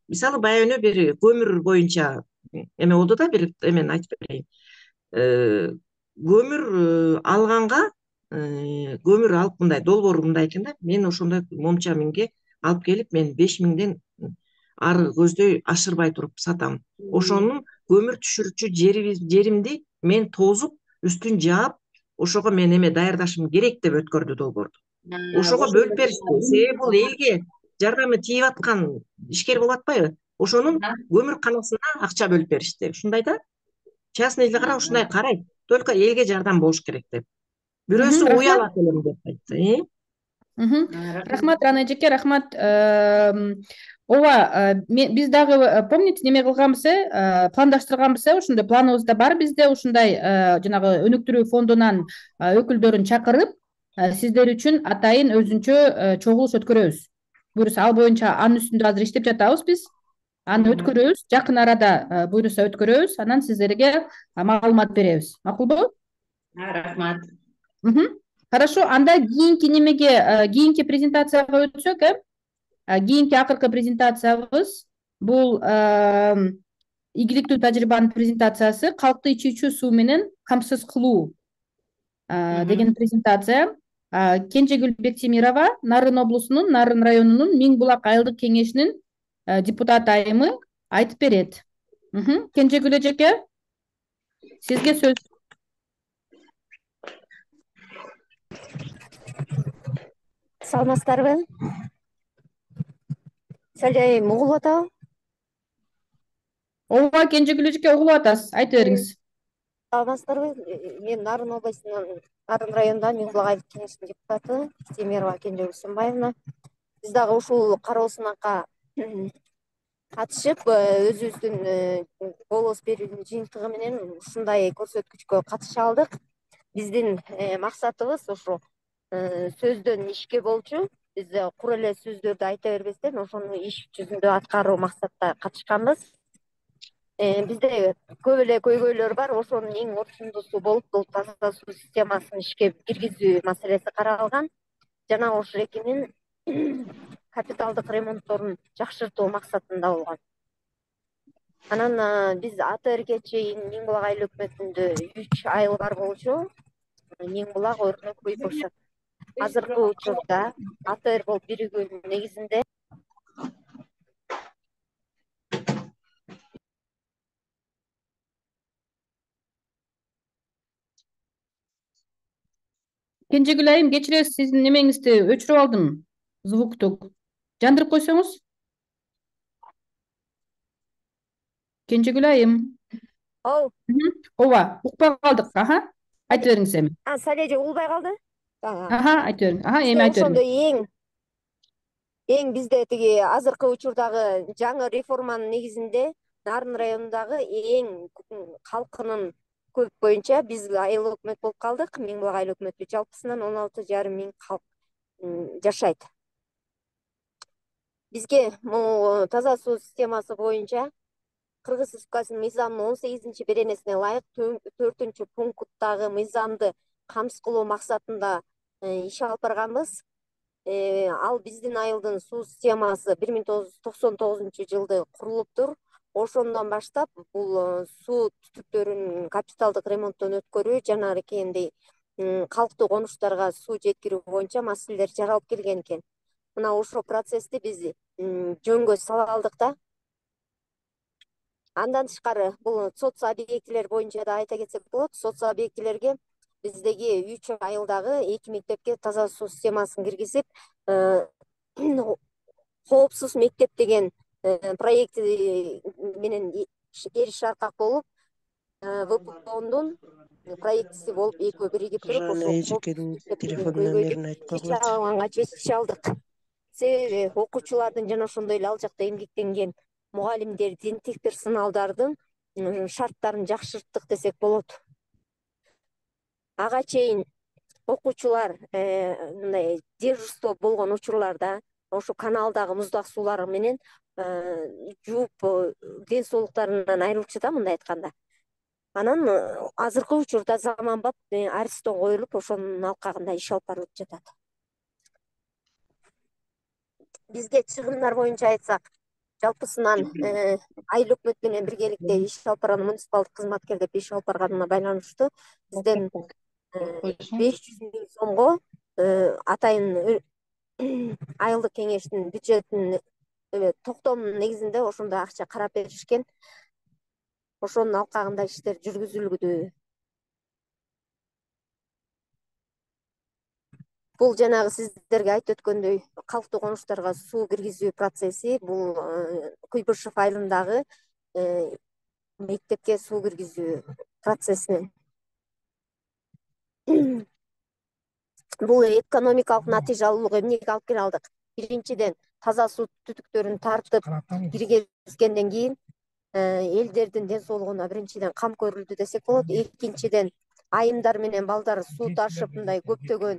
F: Мисалы, баягы бир көмүр боюнча эме болду да, бир эмени айтып берейин. Көмүр алганга, көмүр алып мындай долбоор мындай экен да. Мен ошондой момча минге алып келип, мен 5000ден ары көздөй ашырбай туруп сатам. Ошонун көмүр түшүрүчү жеримди мен тозуп, үстүн жаап, ошого мен эме даярдашым керек деп өткөрдү долбоорду. Ошого бөлүп беришти. Себеби бул элге жардамы тийип аткан ишкер болуп атпайбы? Ошонун көмүр канасына акча бөлүп беришти. Ушундай да. Частныйда кара ушундай карайт. Только элге жардам болуш керек деп. Бирөөсү уялат элем деп айтты.
A: Рахмат, Рана эжеке, рахмат. Ооба, биз дагы помните неме кылганбыз, пландаштырганбыз, ошондой планыбызда бар бизде ушундай жанагы өнүктүрүү фондунан өкүлдөрүн чакырып, сиздер үчүн атайын өзүнчө чогулуш өткөрөбүз. Буюрса ал боюнча анын үстүндө азыр иштеп жатабыз биз. Аны өткөрөбүз, жакын арада буюрса өткөрөбүз, анан сиздерге маалымат беребиз. Макулбу?
I: Рахмат.
A: Хорошо, анда кийинки немеге, кийинки презентацияга өтсөк, кийинки акыркы презентациябыз бул ийгиликтүү тажрыйбанын презентациясы калкты ичүүчү суу менен камсыз кылуу деген презентация. Кенжегүл Бектемирова, Нарын облусунун Нарын районунун Миң Булак айылдык кеңешинин депутат айымы айтып берет. Кенжегүл эжеке, сизге сөз.
J: Саламатсыздарбы? Салайым, угулуп атабы?
A: Ооба, Кенжегүл эжеке, угулуп атасыз. Айта бериңиз.
J: Саламатсыздарбы? Мен Нарын областынан, Нарын районунда Миң Булак айылдык кеңешинин депутаты Бектемирова Кенжегүл Сымбаевна. Биз дагы ушул кароо сынакка катышып, өзүбүздүн голос берүүнүн жыйынтыгы менен ушундай көрсөткүчкө катыша алдык. Биздин максатыбыз ошо сөздөн ишке болчу. Биз кур эле сөздөрдү айта бербестен ошону иш жүзүндө аткаруу максатта катышканбыз. Бизде көп эле көйгөйлөр бар. Ошонун эң орчундусу болуп, бул таза суу системасын ишке киргизүү маселеси каралган. Жана ошол экинин капиталдык ремонтторун жакшыртуу максатында болгон. Анан биз АТРге чейин Миң Булак айыл өкмөтүндө 3 айыл бар болчу. Миң Булак, Өрнөк, Буйкурсак. Азыркы учурда АТР болуп биригүүнүн негизинде
A: Кенжегүл айым, кечиресиз, сиздин немеңизди өчүрүп алдым, звукту. Жандырып койсоңуз. Кенжегүл айым. Ооба, укпай калдык. Айта бериңиз эми.
J: Сале эже угулбай калды?
A: Айта бериң. Эми айта бериң.
J: Ошондо эң бизде тиги азыркы учурдагы жаңы реформанын негизинде Нарын районундагы эң калкынын көп боюнча биз айыл өкмөт болуп калдык. Миң Булак айыл өкмөтү жалпысынан 16,5 миң калк жашайт. Бизге бул таза суу системасы боюнча Кыргыз Республикасынын мыйзамынын 18 беренесине ылайык 4 пункттагы мыйзамды камсыз кылуу максатында иш алып барганбыз. Ал биздин айылдын суу системасы 1999-жылды курулуптур. Ошондон баштап бул суу түтүктөрүн капиталдык ремонттон өткөрүү жана аркендей калктуу конуштарга суу жеткирүү боюнча маселелер жаралып келген экен. Мына ошол процессти биз жөнгө сала алдык да. Андан тышкары бул соц объектилер боюнча да айта кетсек болот. Соц объектилерге биздеги 3 айылдагы 2 мектепке таза суу системасын киргизип, коопсуз мектеп деген проекти менен эриш аркак болуп, ВПОндун проектиси болуп экөө биригип туруп, ошол телефон нөмөрүн айтып койгула. Чечише алдык. Себеби окуучулардын жана ошондой эле ал жакта эмгектенген мугалимдер, тентек персоналдардын шарттарын жакшырттык десек болот. Ага чейин окуучулар мындай дежурство болгон учурларда ошо каналдагы муздак суулар менен жууп ден соолуктарынан айрылчу да, мындай айтканда. Анан азыркы учурда заманбап Аристон коюлуп, ошонун алкагында иш алып барылып жатат. Бизге чыгымдар боюнча айтсак, жалпысынан айыл өкмөт менен биргеликте иш алып барган муниципалдык кызматкер деп иш алып барганына байланыштуу бизден 500 миң сомго атайын айылдык кеңештин бюджетинин токтомунун негизинде ошондой акча карап беришкен. Ошонун алкагында иштер жүргүзүлүүдө. Бул жанагы сиздерге айтып өткөндөй калктуу конуштарга суу киргизүү процесси, бул Куйбышев айылындагы мектепке суу киргизүү процессинен. Бул экономикалык натыйжалуулук эмнеге алып келе алдык? Биринчиден, таза суу түтүктөрүн тартып киргизгенден кийин элдердин ден соолугуна биринчиден кам көрүлдү десек болот. Экинчиден, айымдар менен балдар суу ташып мындай көптөгөн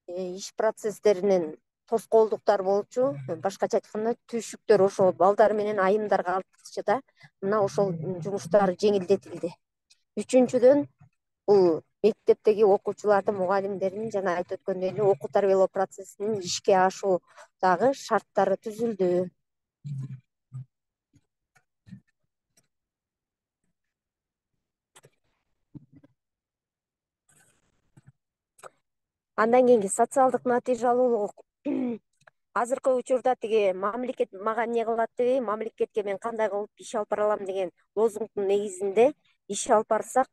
J: иш процесстеринен тоскоолдуктар болчу. Башкача айтканда, түйшүктөр ошо балдар менен айымдарга артыкчы мына ошол жумуштар жеңилдетилди. Үчүнчүдөн, бул мектептеги окуучулардын, мугалимдердин жана айтып өткөндөй эле окуу тарбиялоо процессинин ишке ашуудагы шарттары түзүлдү. Андан кийинки социалдык натыйжалуулук. Азыркы учурда тиги мамлекет мага эмне кылат дебей, мамлекетке мен кандай кылып иш алып бара алам деген лозунгдун негизинде иш алып барсак,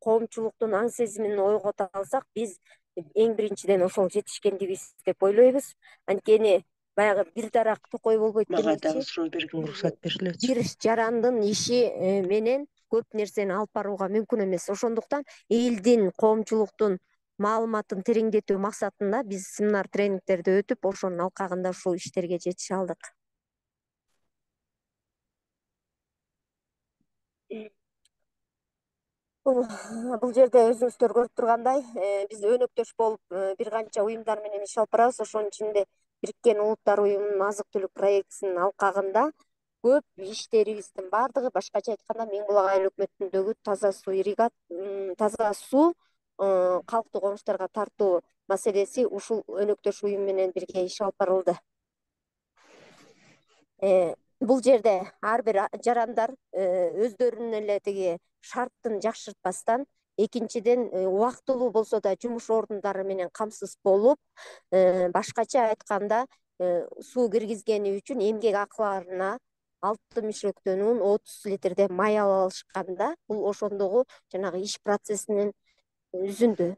J: коомчулуктун аң сезимин ойгото алсак, биз эң биринчиден ошол жетишкендигибиз деп ойлойбуз. Анткени баягы бир дарак токой болбойт
G: Мага дагы
J: демекчи.
G: суроо бергенге уруксат берилетчи.
J: Бир жарандын иши менен көп нерсени алып барууга мүмкүн эмес. Ошондуктан элдин, коомчулуктун маалыматын тереңдетүү максатында биз семинар тренингтерди өтүп, ошонун алкагында ушул иштерге жетише алдык. Бул жерде өзүңүздөр көрүп тургандай, биз өнөктөш болуп бир канча уюмдар менен иш алып барабыз. Ошонун ичинде Бириккен Улуттар уюмунун азык-түлүк проектисинин алкагында көп иштерибиздин баардыгы, башкача айтканда, Миң Булак айыл өкмөтүндөгү таза суу калктуу конуштарга тартуу маселеси ушул өнөктөш уюм менен бирге иш алып барылды. Бул жерде ар бир жарандар өздөрүнүн эле тиги шарттын жакшыртпастан, экинчиден убактылуу болсо да жумуш орундары менен камсыз болуп, башкача айтканда суу киргизгени үчүн эмгек акыларына 6 мишектен ун, 30 литрден май ала алышканда, бул ошондогу жанагы иш процессинин үзүндү.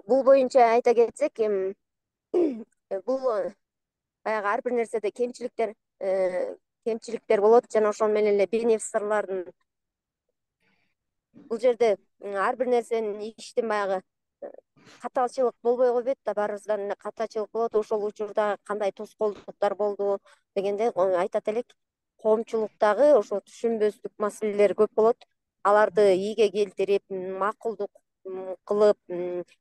J: Бул боюнча айта кетсек, бул баягы ар бир нерседе кемчиликтер болот жана ошол менен эле бенефициарлардын. Бул жерде ар бир нерсенин иштин баягы каталчылык болбой койбойт да, баарыбыздан эле катачылык болот. Ошол учурда кандай тоскоолдуктар болду дегенде айтат элек, коомчулуктагы ошо түшүнбөстүк маселелер көп болот. Аларды ийге келтирип, макулдук кылып,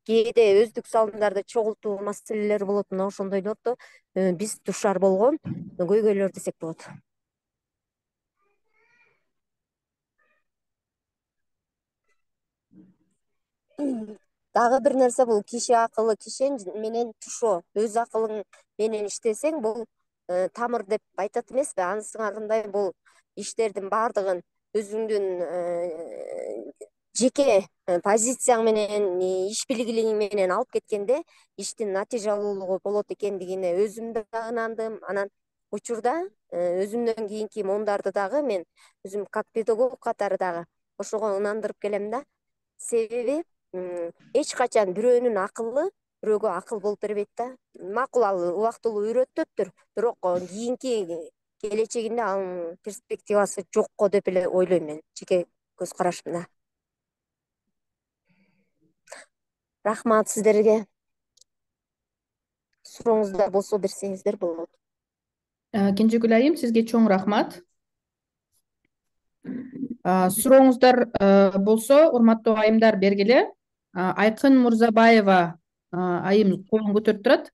J: кээде өздүк салымдарды чогултуу маселелери болот. Мына ошондойлорду биз душар болгон көйгөйлөр десек болот. Дагы бир нерсе, бул киши акылы кишен менен тушоо. Өз акылың менен иштесең, бул тамыр деп айтат эмеспи? Анысыңарындай бул иштердин баардыгын өзүңдүн жеке позицияң менен, иш билгилигиң менен алып кеткенде, иштин натыйжалуулугу болот экендигине өзүм да ынандым. Анан учурда өзүмдөн кийинки моңдарды дагы мен өзүм как педагог катары дагы ошого ынандырып келем да. Себеби эч качан бирөөнүн акылы бирөөгө акыл болуп бербейт да. Макул, ал убактылуу үйрөтөттүр, бирок кийинки келечегинде анын перспективасы жокко деп эле ойлойм мен, жеке көз карашымда. Рахмат сиздерге. Сурооңуздар болсо берсеңиздер болот.
A: Кенжегүл айым, сизге чоң рахмат. Сурооңуздар болсо, урматтуу айымдар, бергиле. Айкын Мурзабаева айым колун көтөрүп турат.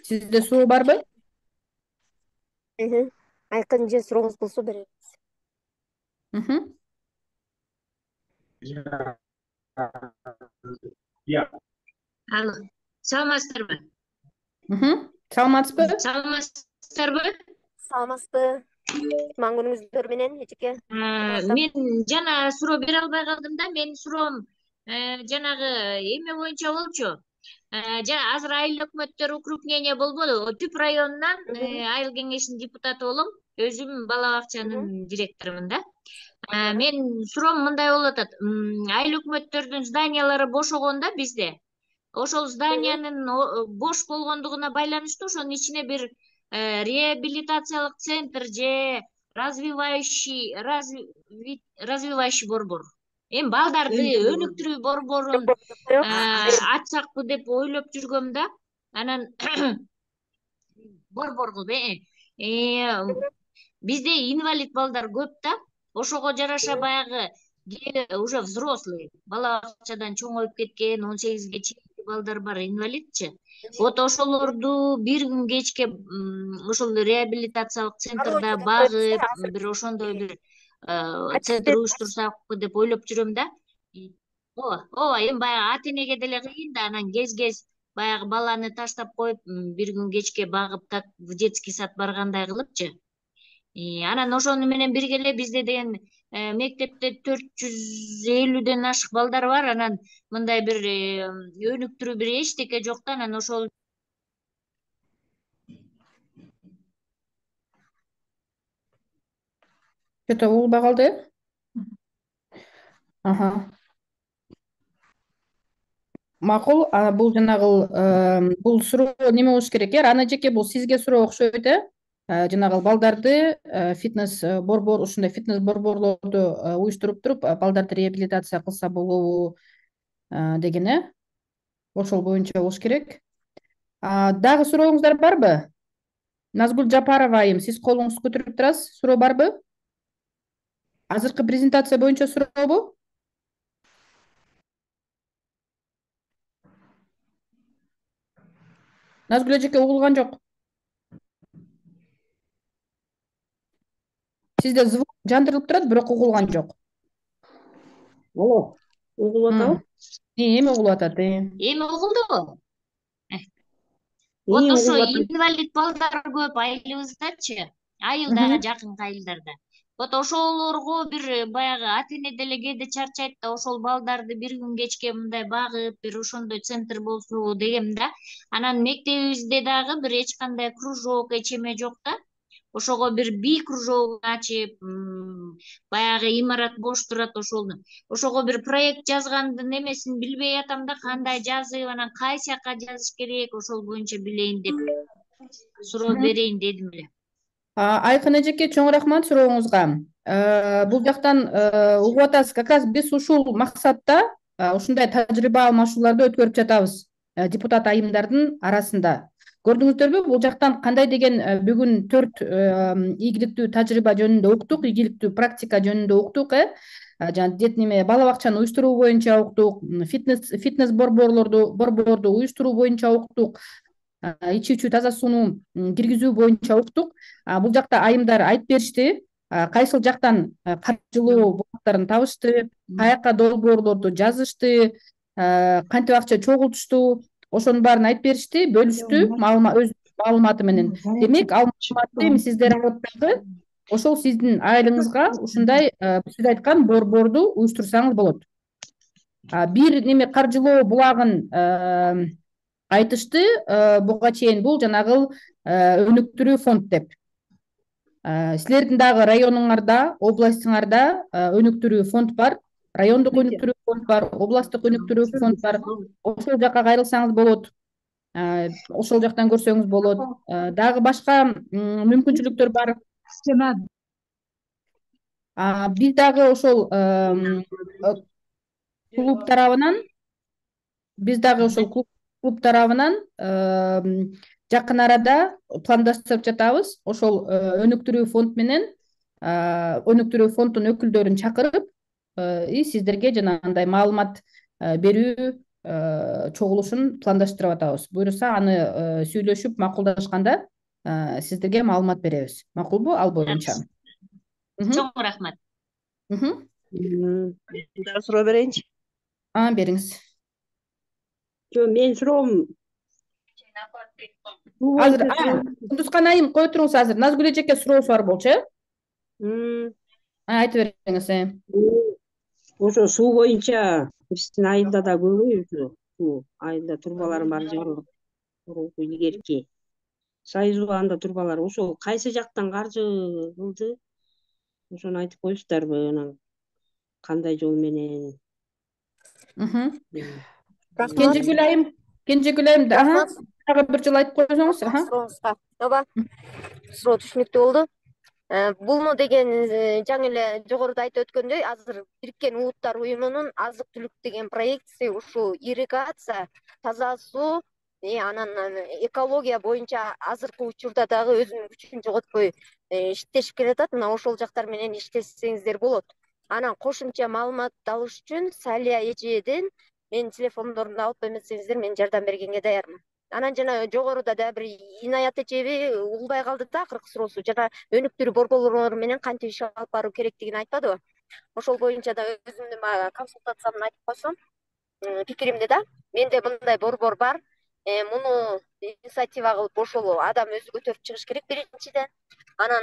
A: Сизде суроо барбы?
J: Айкын же сурооңуз болсо беребиз.
K: Алло, саламатсыздарбы?
A: Саламатсызбы?
J: Саламатсызбы? Кутман күнүңүздөр менен, эжеке.
K: Мен жана суроо бере албай калдым да. Менин суроом жанагы эме боюнча болчу. Жана азыр айыл өкмөттөр укрупнение болбоду. Түп районунан айыл кеңешинин депутаты болом. Өзүм бала бакчанын директорумун да. Мен суроом мындай болуп атат. Айыл өкмөттөрдүн зданиялары бошогондо бизде. Ошол зданиянын бош болгондугуна байланыштуу ошонун ичине бир реабилитациялык центр же развивающий борбор. Эми балдарды өнүктүрүү борборун ачсакпы деп ойлоп жүргөм да. Анан борбор кылып бизде инвалид балдар көп да. Ошого жараша баягы уже взрослый бала бакчадан чоңоюп кеткен 18-ге чейинки балдар бар, инвалидчи. Вот ошолорду бир күн кечке ошол реабилитациялык центрда багып, бир ошондой бир центр уюштурсакпы деп ойлоп жүрөм да. Ооба, эми баягы ата энеге деле кыйын да, анан кез баягы баланы таштап коюп, бир күн кечке багып, так в детский сад баргандай кылыпчы. Анан ошону менен бирге эле бизде деген мектепте 450ден ашык балдар бар. Анан мындай бир өнүктүрүү бир эчтеке жок да. Анан ошол
A: Что-то улбай калды. Макул, бул жанагы бул суроо неме болуш керек Аны жеке бул сизге суроо окшойт жанагы балдарды фитнес борбор, ушундай фитнес борборлорду уюштуруп туруп балдарды реабилитация кылса болобу деген ошол боюнча болуш керек. Дагы сурооңуздар барбы? Назгүл Жапарова айым, сиз колуңузду көтөрүп турасыз. Суроо барбы? Азыркы презентация боюнча сурообу? Назгүл эжеке угулган жок. Сизде звук жандырылып турат, бирок угулган жок.
G: Алло, угулуп атабы?
A: Эми угулуп атат.
K: Эми угулдубу? Вот ошо инвалид балдар көп айылыбыздачы, айылда, жакын айылдарда. Вот ошолорго бир баягы ата эне деле кээде чарчайт да, ошол балдарды бир күн кечке мындай багып, бир ошондой центр болсо дегем да. Анан мектебибизде дагы бир эч кандай кружок, эчеме жок да. Ошого бир би кружогун ачып, баягы имарат бош турат ошого бир проект жазгандын эмесин билбей атам да, кандай жазып, анан кайсы жака жазыш керек, ошол боюнча билейин деп суроо берейин дедим эле.
A: Айкын эжеке, чоң рахмат сурооңузга. Бул жактан угуп атасыз, как раз биз ушул максатта ушундай тажрыйба алмашууларды өткөрүп жатабыз депутат айымдардын арасында. Көрдүңүздөрбү, бул жактан кандай деген бүгүн 4 ийгиликтүү тажрыйба жөнүндө уктук, ийгиликтүү практика жөнүндө уктук, жана бала бакчаны уюштуруу боюнча уктук, фитнес борборду уюштуруу боюнча уктук, ичүүчү таза сууну киргизүү боюнча уктук. Бул жакта айымдар айтып беришти, кайсыл жактан каржылоо булактарын табышты, каяка долбоорлорду жазышты, кантип акча чогултушту, ошонун баарын айтып беришти, бөлүштү өз маалыматы менен. Демек, ал маалыматты эми сиздер алып дагы ошол сиздин айылыңызга ушундай сиз айткан борборду уюштурсаңыз болот. Бир неме каржылоо булагын айтышты буга чейин, бул жанагы өнүктүрүү фонд деп. Силердин дагы районуңарда, областыңарда өнүктүрүү фонд бар, райондук өнүктүрүү фонд бар, областтык өнүктүрүү фонд бар. Ошол жака кайрылсаңыз болот. Ошол жактан көрсөңүз болот. Дагы башка мүмкүнчүлүктөр бар. Биз дагы ошол клуб тарабынан жакын арада пландаштырып жатабыз. Ошол өнүктүрүү фонд менен өнүктүрүү фонддун өкүлдөрүн чакырып, сиздерге жанагындай маалымат берүү чогулушун пландаштырып атабыз. Буюрса, аны сүйлөшүп макулдашканда сиздерге маалымат беребиз. Макулбу ал боюнча?
K: Чоң рахмат.
G: Дагы суроо берейинчи?
A: Бериңиз.
G: Мен суроом
A: Азыр Кундузкан айым кое туруңуз азыр. Назгүл эжеке суроосу бар болчу, айтып бериңиз.
L: Ошо суу боюнча биздин айылда да көбөйдү. Суу айылда турбалар бар, жарылып. Илгерки союз анда турбалар ошол кайсы жактан каржы кылды? ошону айтып коюңуздарбы, анан кандай жол менен?
A: Кенжегүл айым, дагы бир жолу айтып койсоңуз.
J: Сурооңузга ооба, суроо түшүнүктүү болду. Булну деген жаңы эле жогоруда айтып өткөндөй, азыр Бириккен Улуттар Уюмунун азык түлүк деген проектиси ушул ирригация, таза суу, анан экология боюнча азыркы учурда дагы өзүнүн күчүн жоготпой иштешип келатат. Мына ошол жактар менен иштесеңиздер болот. Анан кошумча маалымат алыш үчүн Салия эжеден менин телефондорумду алып эметсеңиздер, мен жардам бергенге даярмын. Анан жана жогоруда да бир Инаят эжеби угулбай калды да акыркы суроосу, жана өнүктүрүү борборлору менен кантип иш алып баруу керектигин айтпадыбы? Ошол боюнча да өзүмдүн консультациямды айтып койсом, пикиримди да, менде мындай борбор бар. Муну инициатива кылып ошол адам өзү көтөрүп чыгыш керек биринчиден. Анан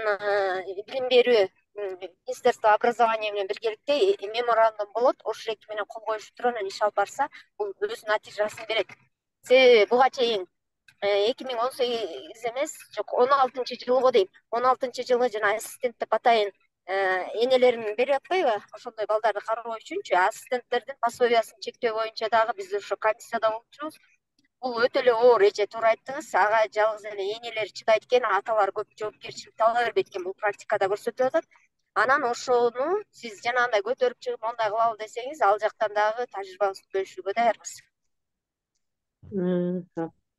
J: билим берүү Министерство образования менен биргеликте меморандум болот. Ошол эки менен кол коюшуп туруп анан иш алып барса, бул өз натыйжасын берет. Себеби буга чейин 2018 эмес, жок 16-жылы дейм. 16-жылы жана ассистент деп атайын энелерин берип атпайбы? Ошондой балдарды кароо үчүнчү ассистенттердин пособиясын чектөө боюнча дагы биз ошо комиссияда болчубуз. Бул өтө эле оор эже, туура айттыңыз. Ага жалгыз эле энелер чыдайт экен, аталар көп жоопкерчиликти ала бербейт экен. Бул практикада көрсөтүлүп атат. Анан ошону сиз жанагындай көтөрүп чыгып мондай кылабы десеңиз, ал жактан дагы тажрыйбабызды бөлүшүүгө даярбыз.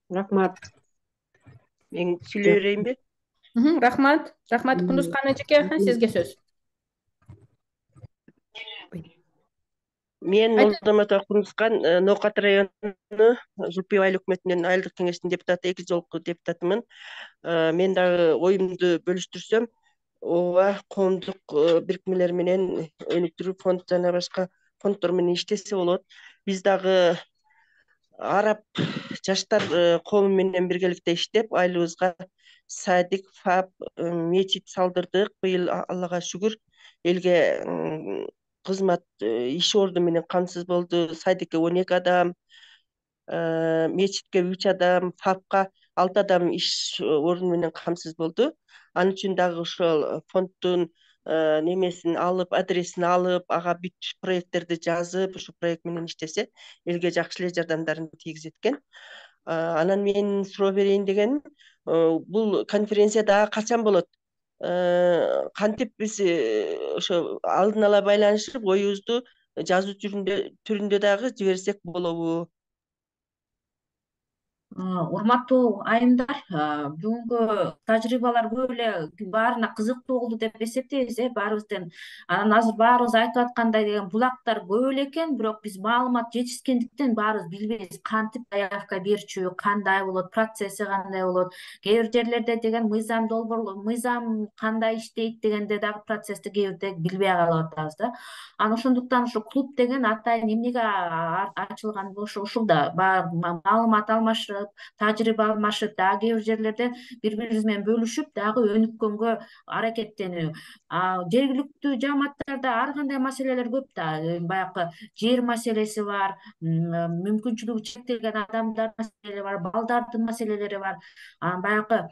L: Рахмат.
G: Мен сүйлөй берейинби?
A: Рахмат. Кундузкан эжеке, сизге сөз.
G: Мен Молдомото Кундузкан, Ноокат району Жулпиев айыл өкмөтүнүн айылдык кеңештин депутаты, 2 жолку депутатымын. Мен дагы оюмду бөлүштүрсөм, ооба, коомдук бирикмелер менен өнүктүрүү фонд жана башка фонддор менен иштесе болот. Биз дагы араб жаштар коому менен биргеликте иштеп, айылыбызга садик, фаб, мечит салдырдык. Быйыл Аллага шүгүр, элге кызмат иш орду менен камсыз болду. Садикке 12 адам, мечитке 3 адам, фабка 6 адам иш орду менен камсыз болду. Ал үчүн дагы ошол фонддун немесин алып, адресин алып, ага бүт проекттерди жазып, ошо проект менен иштесе, элге жакшы эле жардамдарын тийгизет экен. Анан мен суроо берейин дегеним, бул конференция дагы качан болот? Кантип биз ошо алдын ала байланышып, оюбузду жазуу түрүндө дагы жиберсек болобу?
B: Урматтуу айымдар, бүгүнкү тажрыйбалар көп эле баарына кызыктуу болду деп эсептейбиз, баарыбыздын. Анан азыр баарыбыз айтып аткандай деген булактар көп эле экен, бирок биз маалымат жетишкендиктен баарыбыз билбейбиз кантип заявка берчү, кандай болот, процесси кандай болот. Кээ бир жерлерде деген мыйзам кандай иштейт дегенде дагы процессти кээ бирде билбей калып атабыз да. Анан ошондуктан ушу клуб деген атайын эмнеге ачылган болушу ушул да, маалымат алмашып, тажрыйба алмашып, дагы кээ бир жерлерде бири бирибиз менен бөлүшүп, дагы өнүккөнгө аракеттенүү. Жергиликтүү жааматтарда ар кандай маселелер көп да. Баягы жер маселеси бар, мүмкүнчүлүгү чектелген адамдардын маселелери бар, балдардын маселелери бар. Баягы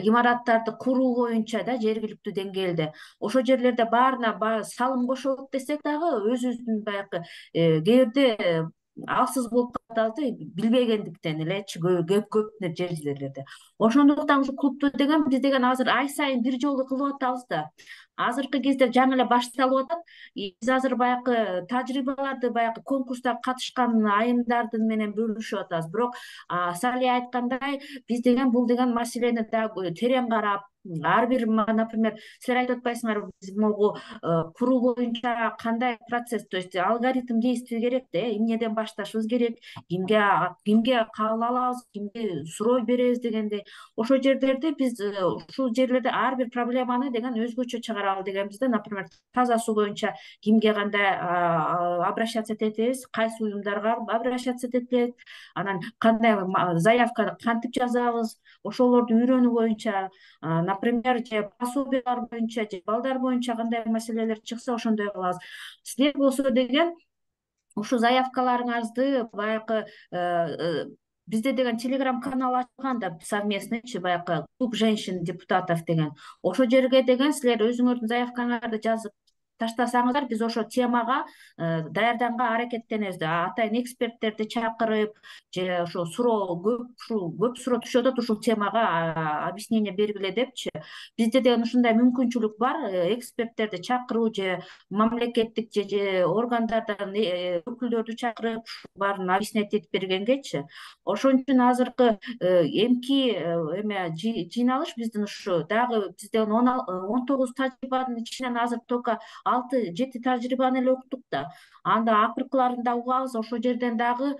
B: имараттарды куруу боюнча да жергиликтүү деңгээлде ошол жерлерде баарына салым кошолот десек дагы өзүбүздүн баягы кээ бирде алсыз болуп калабыз, билбегендиктен элечи көп жерлерде. Ошондуктан ушу клубду деген биз деген азыр ай сайын бир жолу кылып атабыз да. Азыркы кезде жаңы эле башталып атат. Биз азыр баягы тажрыйбаларды баягы конкурста катышкан айымдардын менен бөлүшүп атабыз. Бирок Салия айткандай, биз деген бул деген маселени дагы терең карап, ар бир, например, силер айтып атпайсыңарбы, биз могу куруу боюнча кандай процесс, то есть алгоритм действий керек да, эмнеден башташыбыз керек, кимге кабыл алабыз, кимге суроо беребиз дегендей. Ошол жерлерде биз ушул жерлерде ар бир проблеманы деген өзгөчө чыгаралы дегенбиз да. Например, таза суу боюнча кимге кандай обращаться этебиз, кайсы уюмдарга обращаться этет, анан кандай заявканы кантип жазабыз, ошолорду үйрөнүү боюнча, например, же пособиялар боюнча, же балдар боюнча кандай маселелер чыкса ошондой кылабыз. Силер болсо деген ушу заявкаларыңызды баягы бизде деген телеграм канал ачылган да совместныйчы, баягы клуб женщин депутатов деген. Ошол жерге деген силер өзүңөрдүн заявкаңарды жазып таштасаңыздар, биз ошо темага даярданга аракеттенебиз. Атайын эксперттерди чакырып, же ошо көп суроо түшүп атат ушул темага объяснение бергиле депчи. Бизде деген ушундай мүмкүнчүлүк бар, эксперттерди чакыруу же мамлекеттик же органдардан өкүлдөрдү чакырып баарын объяснять этип бергенгечи. Ошон үчүн азыркы эмки жыйналыш биздин ушу дагы бизде 19 тажрыйбанын ичинен азыр только 6-7 тажрыйбаны эле уктук да. Анда акыркыларын да угабыз, ошол жерден дагы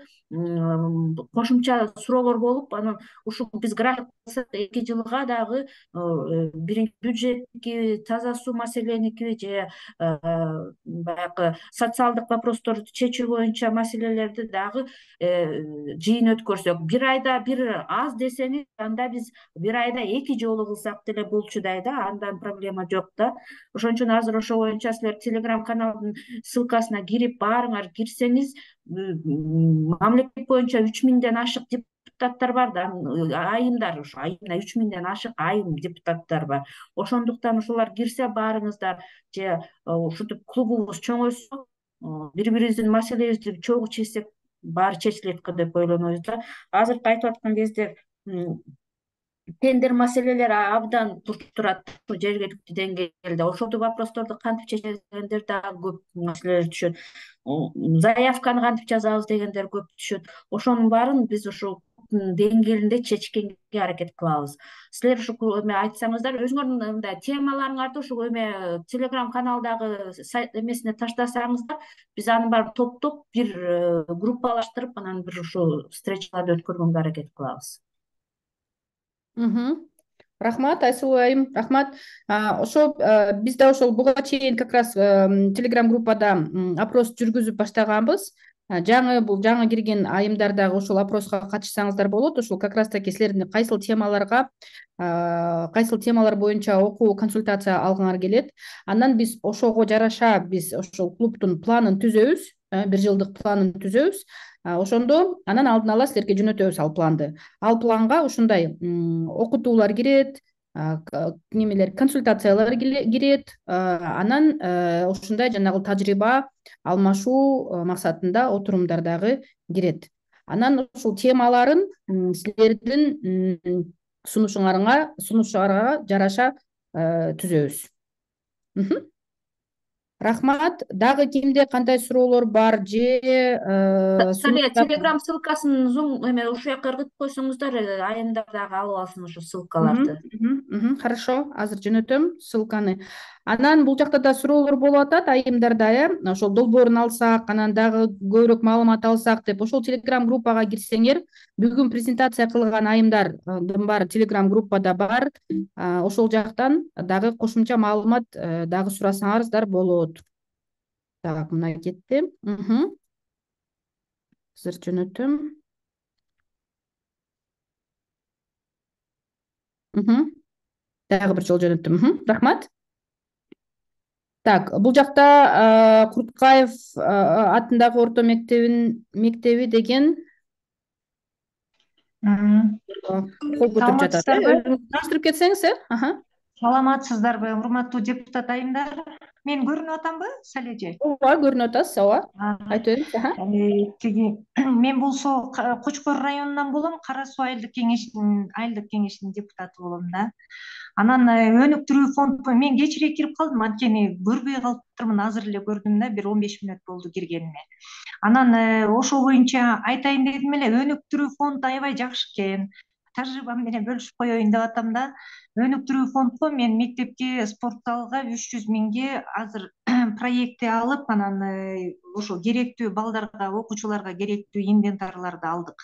B: кошумча суроолор болуп, анан ушул биз график 2 жылга дагы биринчи бюджеттики, таза суу маселеники же баягы социалдык вопросторду чечүү боюнча маселелерди дагы жыйын өткөрсөк, бир айда бир аз десеңиз, анда биз бир айда 2 жолу кылсак деле болчудай да, андан проблема жок да. Ошон үчүн азыр ошо боюнча силер телеграм каналдын ссылкасына кирип барыңар, кирсеңиз мамлекет боюнча 3000ден ашык депутаттар бар да, айымдар, ошо айымда 3000ден ашык айым депутаттар бар. Ошондуктан ошолор кирсе баарыңыздар, же ушинтип клубубуз чоңойсо, бири-бирибиздин маселебизди чогуу чечсек баары чечилет деп ойлонобуз да. Азыркы айтып аткан кезде тендер маселелери абдан туруп турат жергиликтүү деңгээлде. Ошол вопросторду кантип чечебиз дегендер дагы көп маселелер түшөт. Заявканы кантип жазабыз дегендер көп түшөт. Ошонун баарын биз ушул деңгээлинде чечкенге аракет кылабыз. Силер ушул айтсаңыздар, өзүңөрдүн мындай темаларыңарды ушул телеграм каналдагы эмесине таштасаңыздар, биз анын баарын топтоп бир группалаштырып, анан бир ушул встречаларды өткөргөнгө аракет кылабыз.
A: Рахмат, Айсулуу айым, рахмат. Ошо биз да ошол буга чейин как раз телеграм группада опрос жүргүзүп баштаганбыз. Жаңы кирген айымдар дагы ошол опроско катышсаңыздар болот. Ошол как раз таки силердин кайсыл темалар боюнча окуу консультация алгыңар келет. Андан биз ошого жараша биз ошол клубтун планын түзөбүз, 1 жылдык планын түзөбүз. Ошондо анан алдын ала силерге жөнөтөбүз ал планды. Ал планга ушундай окутуулар кирет, немелер, консультациялар кирет, анан ушундай жанагы тажрыйба алмашуу максатында отурумдар дагы кирет. Анан ушул темаларын силердин сунушуңарга жараша түзөбүз. Рахмат. Дагы кимде кандай суроолор бар же
B: телеграм ссылкасын ушу жака ыргытып койсоңуздар, айымдар дагы алып алсын ушу ссылкаларды.
A: Хорошо, азыр жөнөтөм ссылканы. Анан бул жакта да суроолор болуп атат айымдарда, ошол долбоорун алсак, анан дагы көбүрөөк маалымат алсак деп, ошол телеграм группага кирсеңер, бүгүн презентация кылган айымдардын баары телеграм группада бар. Ошол жактан дагы кошумча маалымат дагы сурасаңарыздар болот. Так, мына кетти. Азыр жөнөтөм. Дагы бир жолу жөнөттүм. Рахмат. Так, бул жакта Курткаев атындагы орто мектеби деген кол көтөрүп жатат. Таныштырып кетсеңиз,
M: Саламатсыздарбы, урматтуу депутат айымдар? Мен көрүнүп атамбы, Салеже?
A: Ооба, көрүнүп атасыз, ооба. Айтып
M: бериңиз. Мен болсо Кочкор районунан болом, Кара Суу айылдык кеңешинин депутаты болом да. Анан өнүктүрүү фонд, мен кечирээк кирип калдым, анткени көрбөй калыптырмын, азыр эле көрдүм да, бир 15 мүнөт болду киргениме. Анан ошол боюнча айтайын дедим эле, өнүктүрүү фонд аябай жакшы экен. Тажрыйбам менен бөлүшүп коеюн деп атам да. Өнүктүрүү фондко мен мектепке, спорт залга 300 миңге азыр проекти алып, анан ошо керектүү балдарга, окуучуларга керектүү инвентарларды алдык.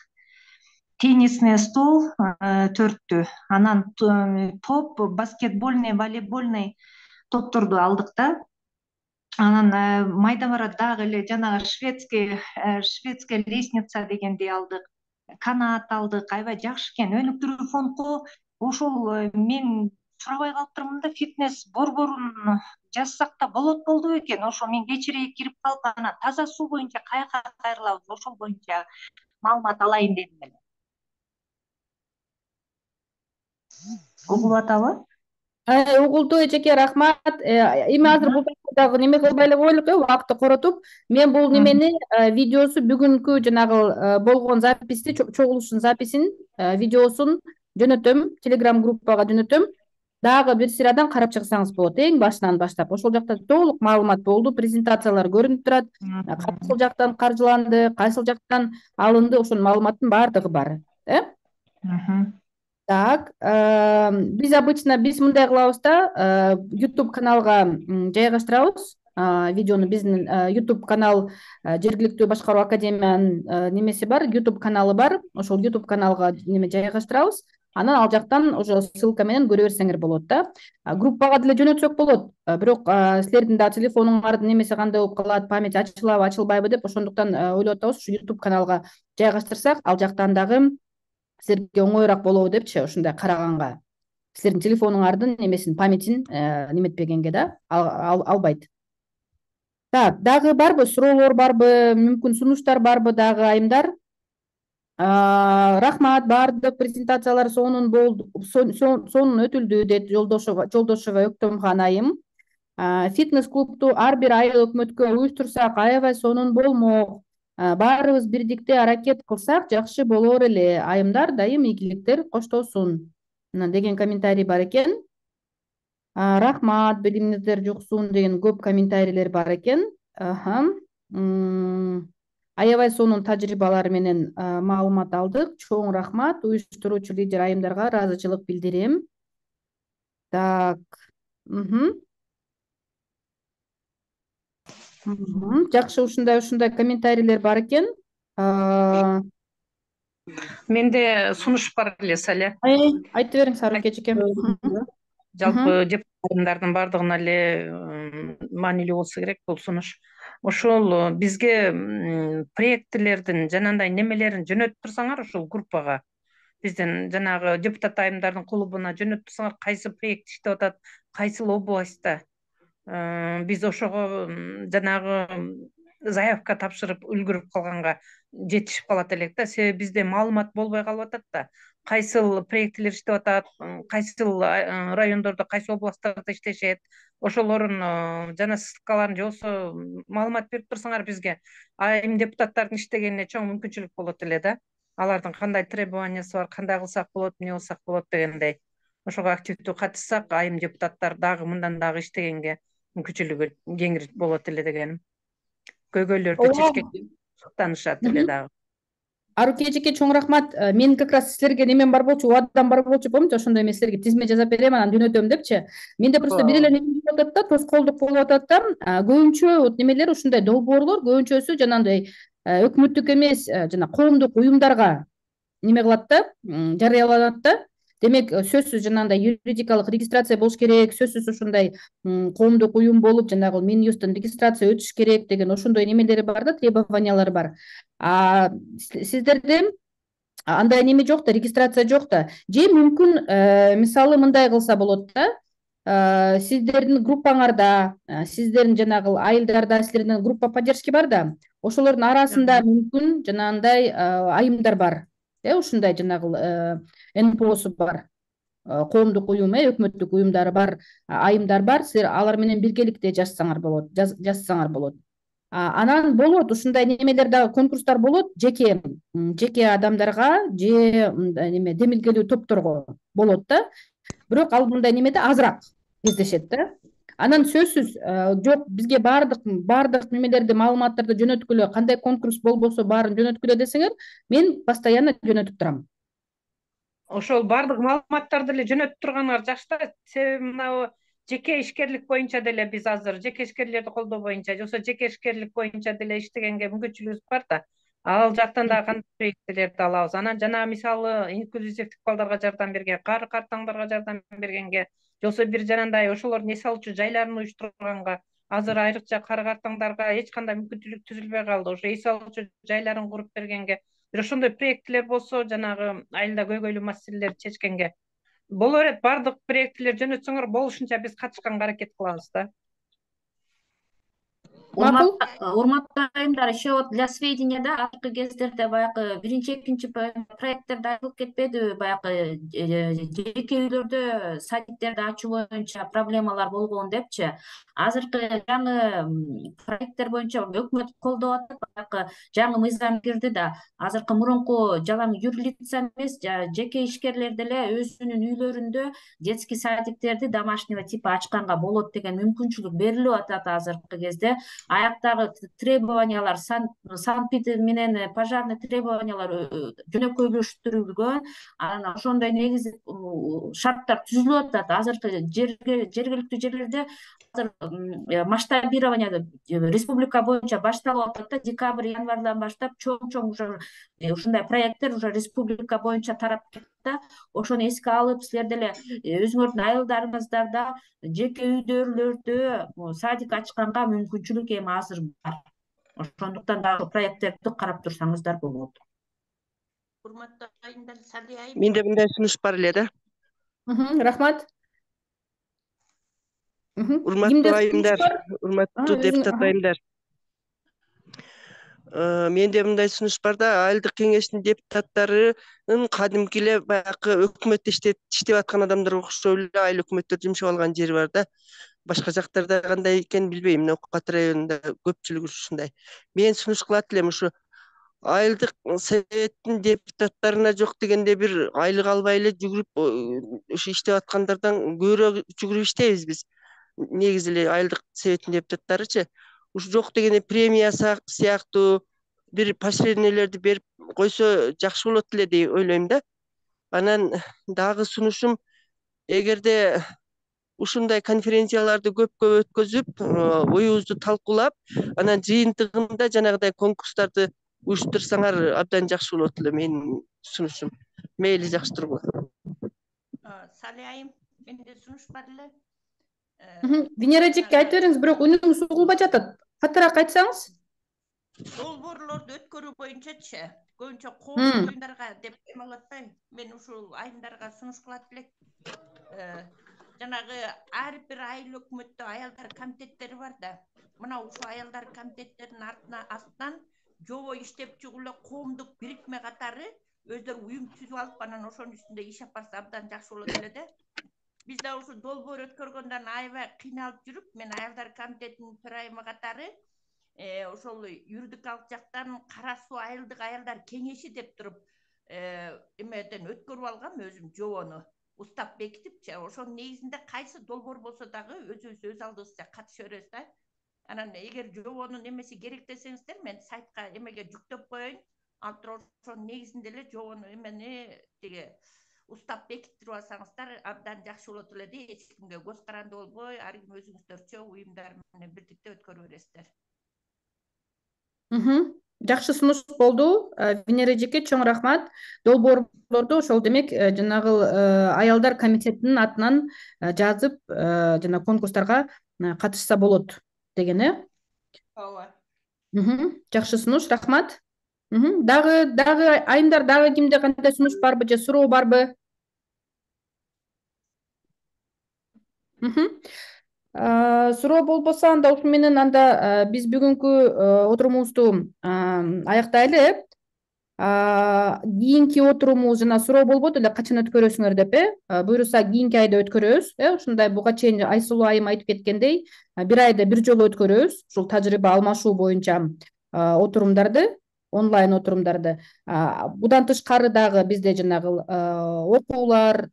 M: Теннисный стол 4-түү, анан топ, баскетбольный, волейбольный топторду алдык да. Анан майда бара дагы эле жанагы шведская лестница дегенди алдык. Канат алдык, аябай жакшы экен. Өнүктүрүү фондко ошол мен сурабай калыптырмын да, фитнес борборун жазсак да болду экен. Ошо мен кечирээк кирип калып, анан таза суу боюнча каяка кайрылабыз, ошол боюнча маалымат алайын дедим эле. угулуп атабы?
A: Угулду эжеке, рахмат. Эми азыр бул дагы неме кылбай эле коелук, убакытты коротуп. Мен бул немени видеосу бүгүнкү жанагы болгон записти, чогулуштун записин, видеосун жөнөтөм, Telegram группага жөнөтөм. Дагы бир сырадан карап чыксаңыз болот, эң башынан баштап. Ошол жакта толук маалымат болду, презентациялар көрүнүп турат. Кайсыл жактан каржыланды, кайсыл жактан алынды, ошонун маалыматтын баардыгы бар. Так, биз обычно мындай кылабыз да, YouTube каналга жайгаштырабыз видеону. Биздин YouTube канал жергиликтүү башкаруу академиянын немеси бар, YouTube каналы бар. Ошол YouTube каналга неме жайгаштырабыз. Анан ал жактан уже ссылка менен көрө берсеңер болот да. Группага деле жөнөтсөк болот. Бирок силердин да телефонуңардын немеси кандай болуп калат, память ачылабы, ачылбайбы деп ошондуктан ойлоп атабыз, ушу YouTube каналга жайгаштырсак, ал жактан дагы силерге оңоюраак болобу депчи, ушундай караганга. Силердин телефонуңардын немесин, памятин неметпегенге да албайт. Так, дагы барбы суроолор, барбы мүмкүн сунуштар, барбы дагы айымдар? Рахмат, баардык презентациялар сонун өтүлдү, дейт Жолдошева Өктөмхан айым. Фитнес-клубту ар бир айыл өкмөткө уюштурсак, аябай сонун болмок. Баарыбыз бирдикте аракет кылсак жакшы болор эле. Айымдар дайым ийгиликтер коштосун деген комментарий бар экен. Рахмат, билимиңиздер жуксун деген көп комментарийлер бар экен. Аябай сонун тажрыйбалар менен маалымат алдык. Чоң рахмат. Уюштуруучу лидер айымдарга ыраазычылык билдирем. Так. Жакшы, ушундай комментарийлер бар экен.
D: Менде сунуш бар эле, Саля.
A: Айтып бериң, Сарык эжеке.
D: Жалпы депутаттардын баардыгына эле маанилүү болсо керек бул сунуш. Ошол бизге проектилердин жанагындай немелерин жөнөтүп турсаңар, ошол группага, биздин жанагы депутат айымдардын клубуна жөнөтүп турсаңар, кайсы проект иштеп атат, кайсыл областта. Биз ошого жанагы заявка тапшырып үлгүрүп калганга жетишип калат элек да. Себеби бизде маалымат болбой калып атат да. Кайсыл проектилер иштеп атат, кайсыл райондордо, кайсы областтарда иштешет. Ошолордун жана ссылкаларын же болбосо маалымат берип турсаңар бизге, айым депутаттардын иштегенине чоң мүмкүнчүлүк болот эле да. Алардын кандай требованиясы бар, кандай кылсак болот, эмне кылсак болот дегендей. Ошого активдүү катышсак, айым депутаттар дагы мындан дагы иштегенге мүмкүнчүлүгү кеңири болот эле дегеним. Көйгөйлөрдү чечкенге суктанышат эле дагы.
A: Аруке эжеке, чоң рахмат. Мен как раз силерге немем бар болчу, убадам бар болчу, помните, ошондой мен силерге тизме жазап берем, анан жөнөтөм депчи. Менде просто бир эле неме болуп атат да, тоскоолдук болуп атат да. Көбүнчө вот немелер, ушундай долбоорлор көбүнчөсү жанагындай өкмөттүк эмес, жана коомдук уюмдарга неме кылат да, жарыяланат да. Демек, сөзсүз жанагындай юридикалык регистрация болуш керек, сөзсүз ушундай коомдук уюм болуп, жанагы Минюсттун регистрация өтүш керек деген ошондой немелери бар да, требованиялары бар. Сиздерде андай неме жок да, регистрация жок да. Же мүмкүн мисалы мындай кылса болот да. Сиздердин группаңарда, сиздердин жанагы айылдарда силердин группа поддержки бар да. Ошолордун арасында мүмкүн жанагындай айымдар бар. Ушундай жанагы НПОсу бар. Коомдук уюм, өкмөттүк уюмдары бар, айымдар бар. Силер алар менен биргеликте жазсаңар болот. Анан болот ушундай немелер дагы, конкурстар болот, жеке адамдарга же неме демилгелүү топторго болот да. Бирок ал мындай немеде азыраак кездешет да. Анан сөзсүз жок, бизге баардык немелерди, маалыматтарды жөнөткүлө, кандай конкурс болбосо баарын жөнөткүлө десеңер, мен постоянно жөнөтүп турам.
D: Ошол баардык маалыматтарды эле жөнөтүп турганыңар жакшы да. Себеби мына жеке ишкерлик боюнча деле биз азыр жеке ишкерлерди колдоо боюнча, же болбосо жеке ишкерлик боюнча деле иштегенге мүмкүнчүлүгүбүз бар да. Ал жактан да кандай проектилерди алабыз. Анан жана мисалы инклюзивдик балдарга жардам берген, кары картаңдарга жардам бергенге, же болбосо бир жанагындай ошолордун эс алуучу жайларын уюштурганга, азыр айрыкча кары картаңдарга эч кандай мүмкүнчүлүк түзүлбөй калды. Ошо эс алуучу жайларын куруп бергенге, бир ошондой проектилер болсо, жанагы айылда көйгөйлүү маселелерди чечкенге боло берет. Баардык проектилер жөнөтсөңөр болушунча биз катышканга аракет кылабыз да.
A: Макул.
B: Урматтуу айымдар, еще для сведения да, акыркы кездерде баягы биринчи, экинчи проекттерде айтылып кетпедиби, баягы жеке үйлөрдө садиктерди ачуу боюнча проблемалар болгон депчи. Азыркы жаңы проекттер боюнча өкмөт колдоп атат, баягы жаңы мыйзам кирди да. Азыркы мурунку жалаң юрлица эмес, жеке ишкерлер деле өзүнүн үйлөрүндө детский садиктерди домашнего типа ачканга болот деген мүмкүнчүлүк берилип атат азыркы кезде. Аяктагы требованиялар, санпид менен пожарный требованиялар жөнөкөйлөштүрүлгөн. Анан ошондой негизи шарттар түзүлүп атат. Азыркы жергиликтүү жерлерде азыр масштабирование республика боюнча башталып атат да. Декабрь, январдан баштап чоң уже ушундай проекттер уже республика боюнча тарап кетти. Ошону эске алып, силер деле өзүңөрдүн айылдарыңыздарда жеке үйдөрлөрдө садик ачканга мүмкүнчүлүк эми азыр бар. Ошондуктан дагы проекттерди карап турсаңыздар болот.
N: Урматтуу айымдар, Сали айым.
G: Менде мындай сунуш бар эле да.
A: Рахмат.
G: Урматтуу айымдар, урматтуу депутат айымдар. Менде мындай сунуш бар да, айылдык кеңештин депутаттарынын кадимки эле баягы өкмөттө иштеп аткан адамдарга окшоп эле айыл өкмөттөр жумшап алган жери бар да. Башка жактарда кандай экенин билбейм, Нокат районунда көпчүлүгү ушундай. Мен сунуш кылат элем, ушу айылдык советтин депутаттарына жок дегенде бир айлык албай эле жүгүрүп ушу иштеп аткандардан көбүрөөк жүгүрүп иштейбиз биз. Негизи эле айылдык советтин депутаттарычы ушу жок дегенде премия сыяктуу бир поощрениялерди берип койсо жакшы болот эле деп ойлойм да. Анан дагы сунушум, эгерде ушундай конференцияларды көпкө өткөзүп, оюбузду талкуулап, анан жыйынтыгында жанагыдай конкурстарды уюштурсаңар абдан жакшы болот эле, менин сунушум. Мейли, жакшы тургула.
N: Сали айым, менде сунуш бар эле.
A: Венера эжеке айтып бериңиз, бирок үнүңүз угулбай жатат. Катыраак айтсаңыз.
N: Долбоорлорду өткөрүү боюнчачы, көбүнчө коомдук оюндарга деп эме атпайм. Мен ушул айымдарга сунуш кылат элек. Жанагы ар бир айыл өкмөттө аялдар комитеттери бар да. Мына ушул аялдар комитеттеринин астынан жобо иштеп чыгып эле коомдук бирикме катары өздөрү уюм түзүп алып, анан ошонун үстүндө иш алып барса абдан жакшы болот эле да. Биз да ушу долбоор өткөргөндөн аябай кыйналып жүрүп, мен аялдар комитетинин төрайымы катары ошол юридикалык жактан Кара Суу айылдык аялдар кеңеши деп туруп эмеден өткөрүп алгам өзүм жобону. Устап бекитипчи, ошонун негизинде кайсы долбоор болсо дагы өзүбүз өз алдыбызча катыша беребиз да. Анан эгер жобонун эмеси керек десеңиздер, мен сайтка эмеге жүктөп коеюн. Ал туруп ошонун негизинде эле жобону эмени тиги устап бекиттирип алсаңыздар абдан жакшы болот эле да. Эч кимге көз каранды болбой, ар ким өзүңүздөрчө уюмдар менен бирдикте өткөрүп бересиздер.
A: Жакшы сунуш болду. Венера эжеке, чоң рахмат. Долбоорлорду ошол демек жанагы аялдар комитетинин атынан жазып, жана конкурстарга катышса болот деген,
N: Ооба.
A: Жакшы сунуш, рахмат. Дагы айымдар, дагы кимде кандай сунуш барбы же суроо барбы? Суроо болбосо анда ушу менен анда биз бүгүнкү отурумубузду аяктайлы. Кийинки отурумубуз жана суроо болбоду эле качан өткөрөсүңөр деп, буюрса кийинки айда өткөрөбүз. Ушундай буга чейин Айсулуу айым айтып кеткендей, бир айда бир жолу өткөрөбүз. Ушул тажрыйба алмашуу боюнча отурумдарды, онлайн отурумдарды. Будан тышкары дагы бизде жанагы окуулар,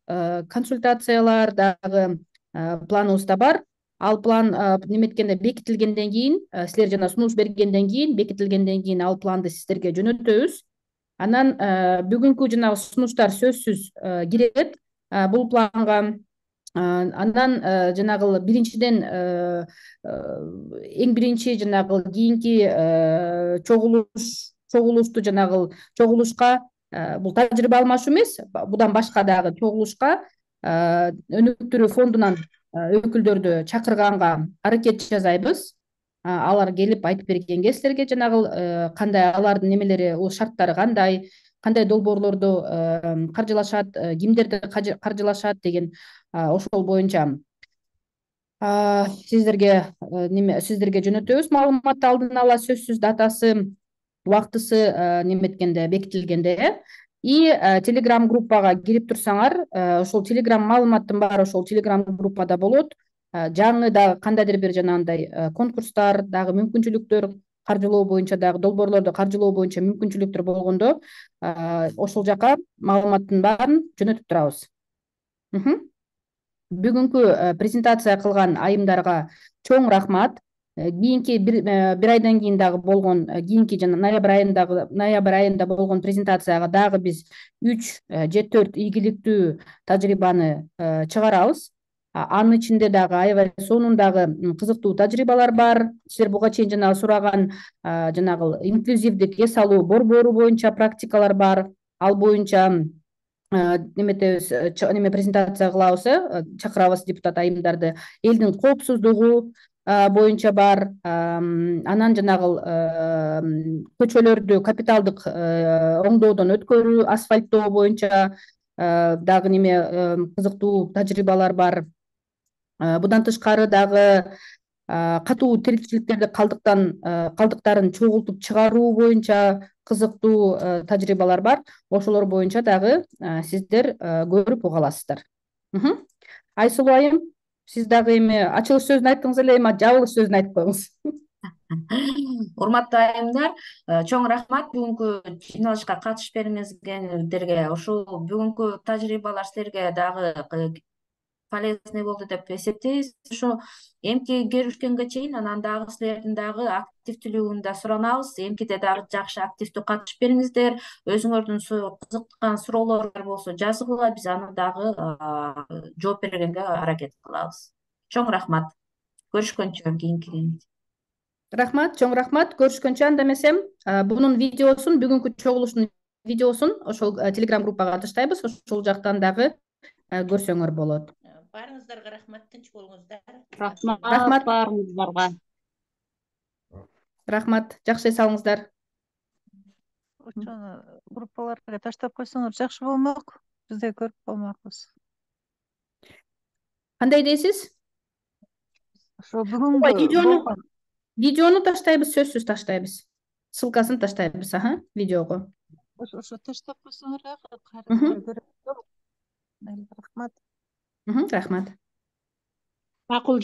A: консультациялар дагы планыбызда бар. Ал план неметкенде бекитилгенден кийин, силер жана сунуш бергенден кийин, бекитилгенден кийин ал планды сиздерге жөнөтөбүз. Анан бүгүнкү жанагы сунуштар сөзсүз кирет бул планга. Андан жанагы биринчиден эң биринчи жанагы кийинки чогулушту жанагы чогулушка, бул тажрыйба алмашуу эмес, будан башка дагы чогулушка өнүктүрүү фондунан өкүлдөрдү чакырганга аракет жасайбыз. Алар келип айтып бергенге силерге жанагы кандай алардын немелери, шарттары кандай долбоорлорду каржылашат, кимдерди каржылашат деген ошол боюнча сиздерге жөнөтөбүз маалыматты алдын ала, сөзсүз датасы, убактысы неметкенде, бекитилгенде. И телеграм группага кирип турсаңар, ошол телеграм маалыматтын баары ошол телеграм группада болот. Жаңы дагы кандайдыр бир жанагындай конкурстар, дагы мүмкүнчүлүктөр каржылоо боюнча, дагы долбоорлорду каржылоо боюнча мүмкүнчүлүктөр болгондо ошол жака маалыматтын баарын жөнөтүп турабыз. Бүгүнкү презентация кылган айымдарга чоң рахмат. Кийинки бир айдан кийин дагы болгон, кийинки жана ноябрь айында болгон презентацияга дагы биз 3 же 4 ийгиликтүү тажрыйбаны чыгарабыз. Анын ичинде дагы аябай сонундагы кызыктуу тажрыйбалар бар. Силер буга чейин жанагы сураган жанагы инклюзивдик эс алуу борбору боюнча практикалар бар. Ал боюнча презентация кылабыз, чакырабыз депутат айымдарды. Элдин коопсуздугу боюнча бар. Анан жанагы көчөлөрдү капиталдык оңдоодон өткөрүү, асфальттоо боюнча дагы кызыктуу тажрыйбалар бар. Будан тышкары дагы катуу тиричиликтерди калдыктарын чогултуп чыгаруу боюнча кызыктуу тажрыйбалар бар. Ошолор боюнча дагы сиздер көрүп уга аласыздар. Айсулуу айым, сиз дагы эми ачылыш сөзүн айттыңыз эле, эми жабылыш сөзүн айтып коюңуз.
B: Урматтуу айымдар, чоң рахмат бүгүнкү жыйналышка катышып бериңиздерге. Ошол бүгүнкү тажрыйбалар силерге дагы полезный болду деп эсептейбиз. Ошо эмки көрүшкөнгө чейин анан дагы силердин дагы активдүүлүгүн да суранабыз. Эмкиде дагы жакшы активдүү катышып бериңиздер. Өзүңөрдүн кызыккан суроолор болсо жазгыла, биз аны дагы жооп бергенге аракет кылабыз. Чоң рахмат. Көрүшкөнчө кийинки.
A: Рахмат, чоң рахмат. Көрүшкөнчө анда эмесем, бунун видеосун, бүгүнкү чогулуштун видеосун ошол телеграм группага таштайбыз. Ошол жактан дагы көрсөңөр болот.
N: Баарыңыздарга рахмат, тынч болуңуздар.
A: Рахмат
E: баарыңыздарга.
A: Рахмат, жакшы эс алыңыздар.
O: Ошону группаларга таштап койсоңор жакшы болмок. Биз да көрүп калмакпыз.
A: Кандай дейсиз?
O: Ошо бүгүнкү
A: видеону таштайбыз, сөзсүз таштайбыз. Ссылкасын таштайбыз, видеого.
O: Ошо таштап койсоңор рахмат.
A: Рахмат.
E: Макул.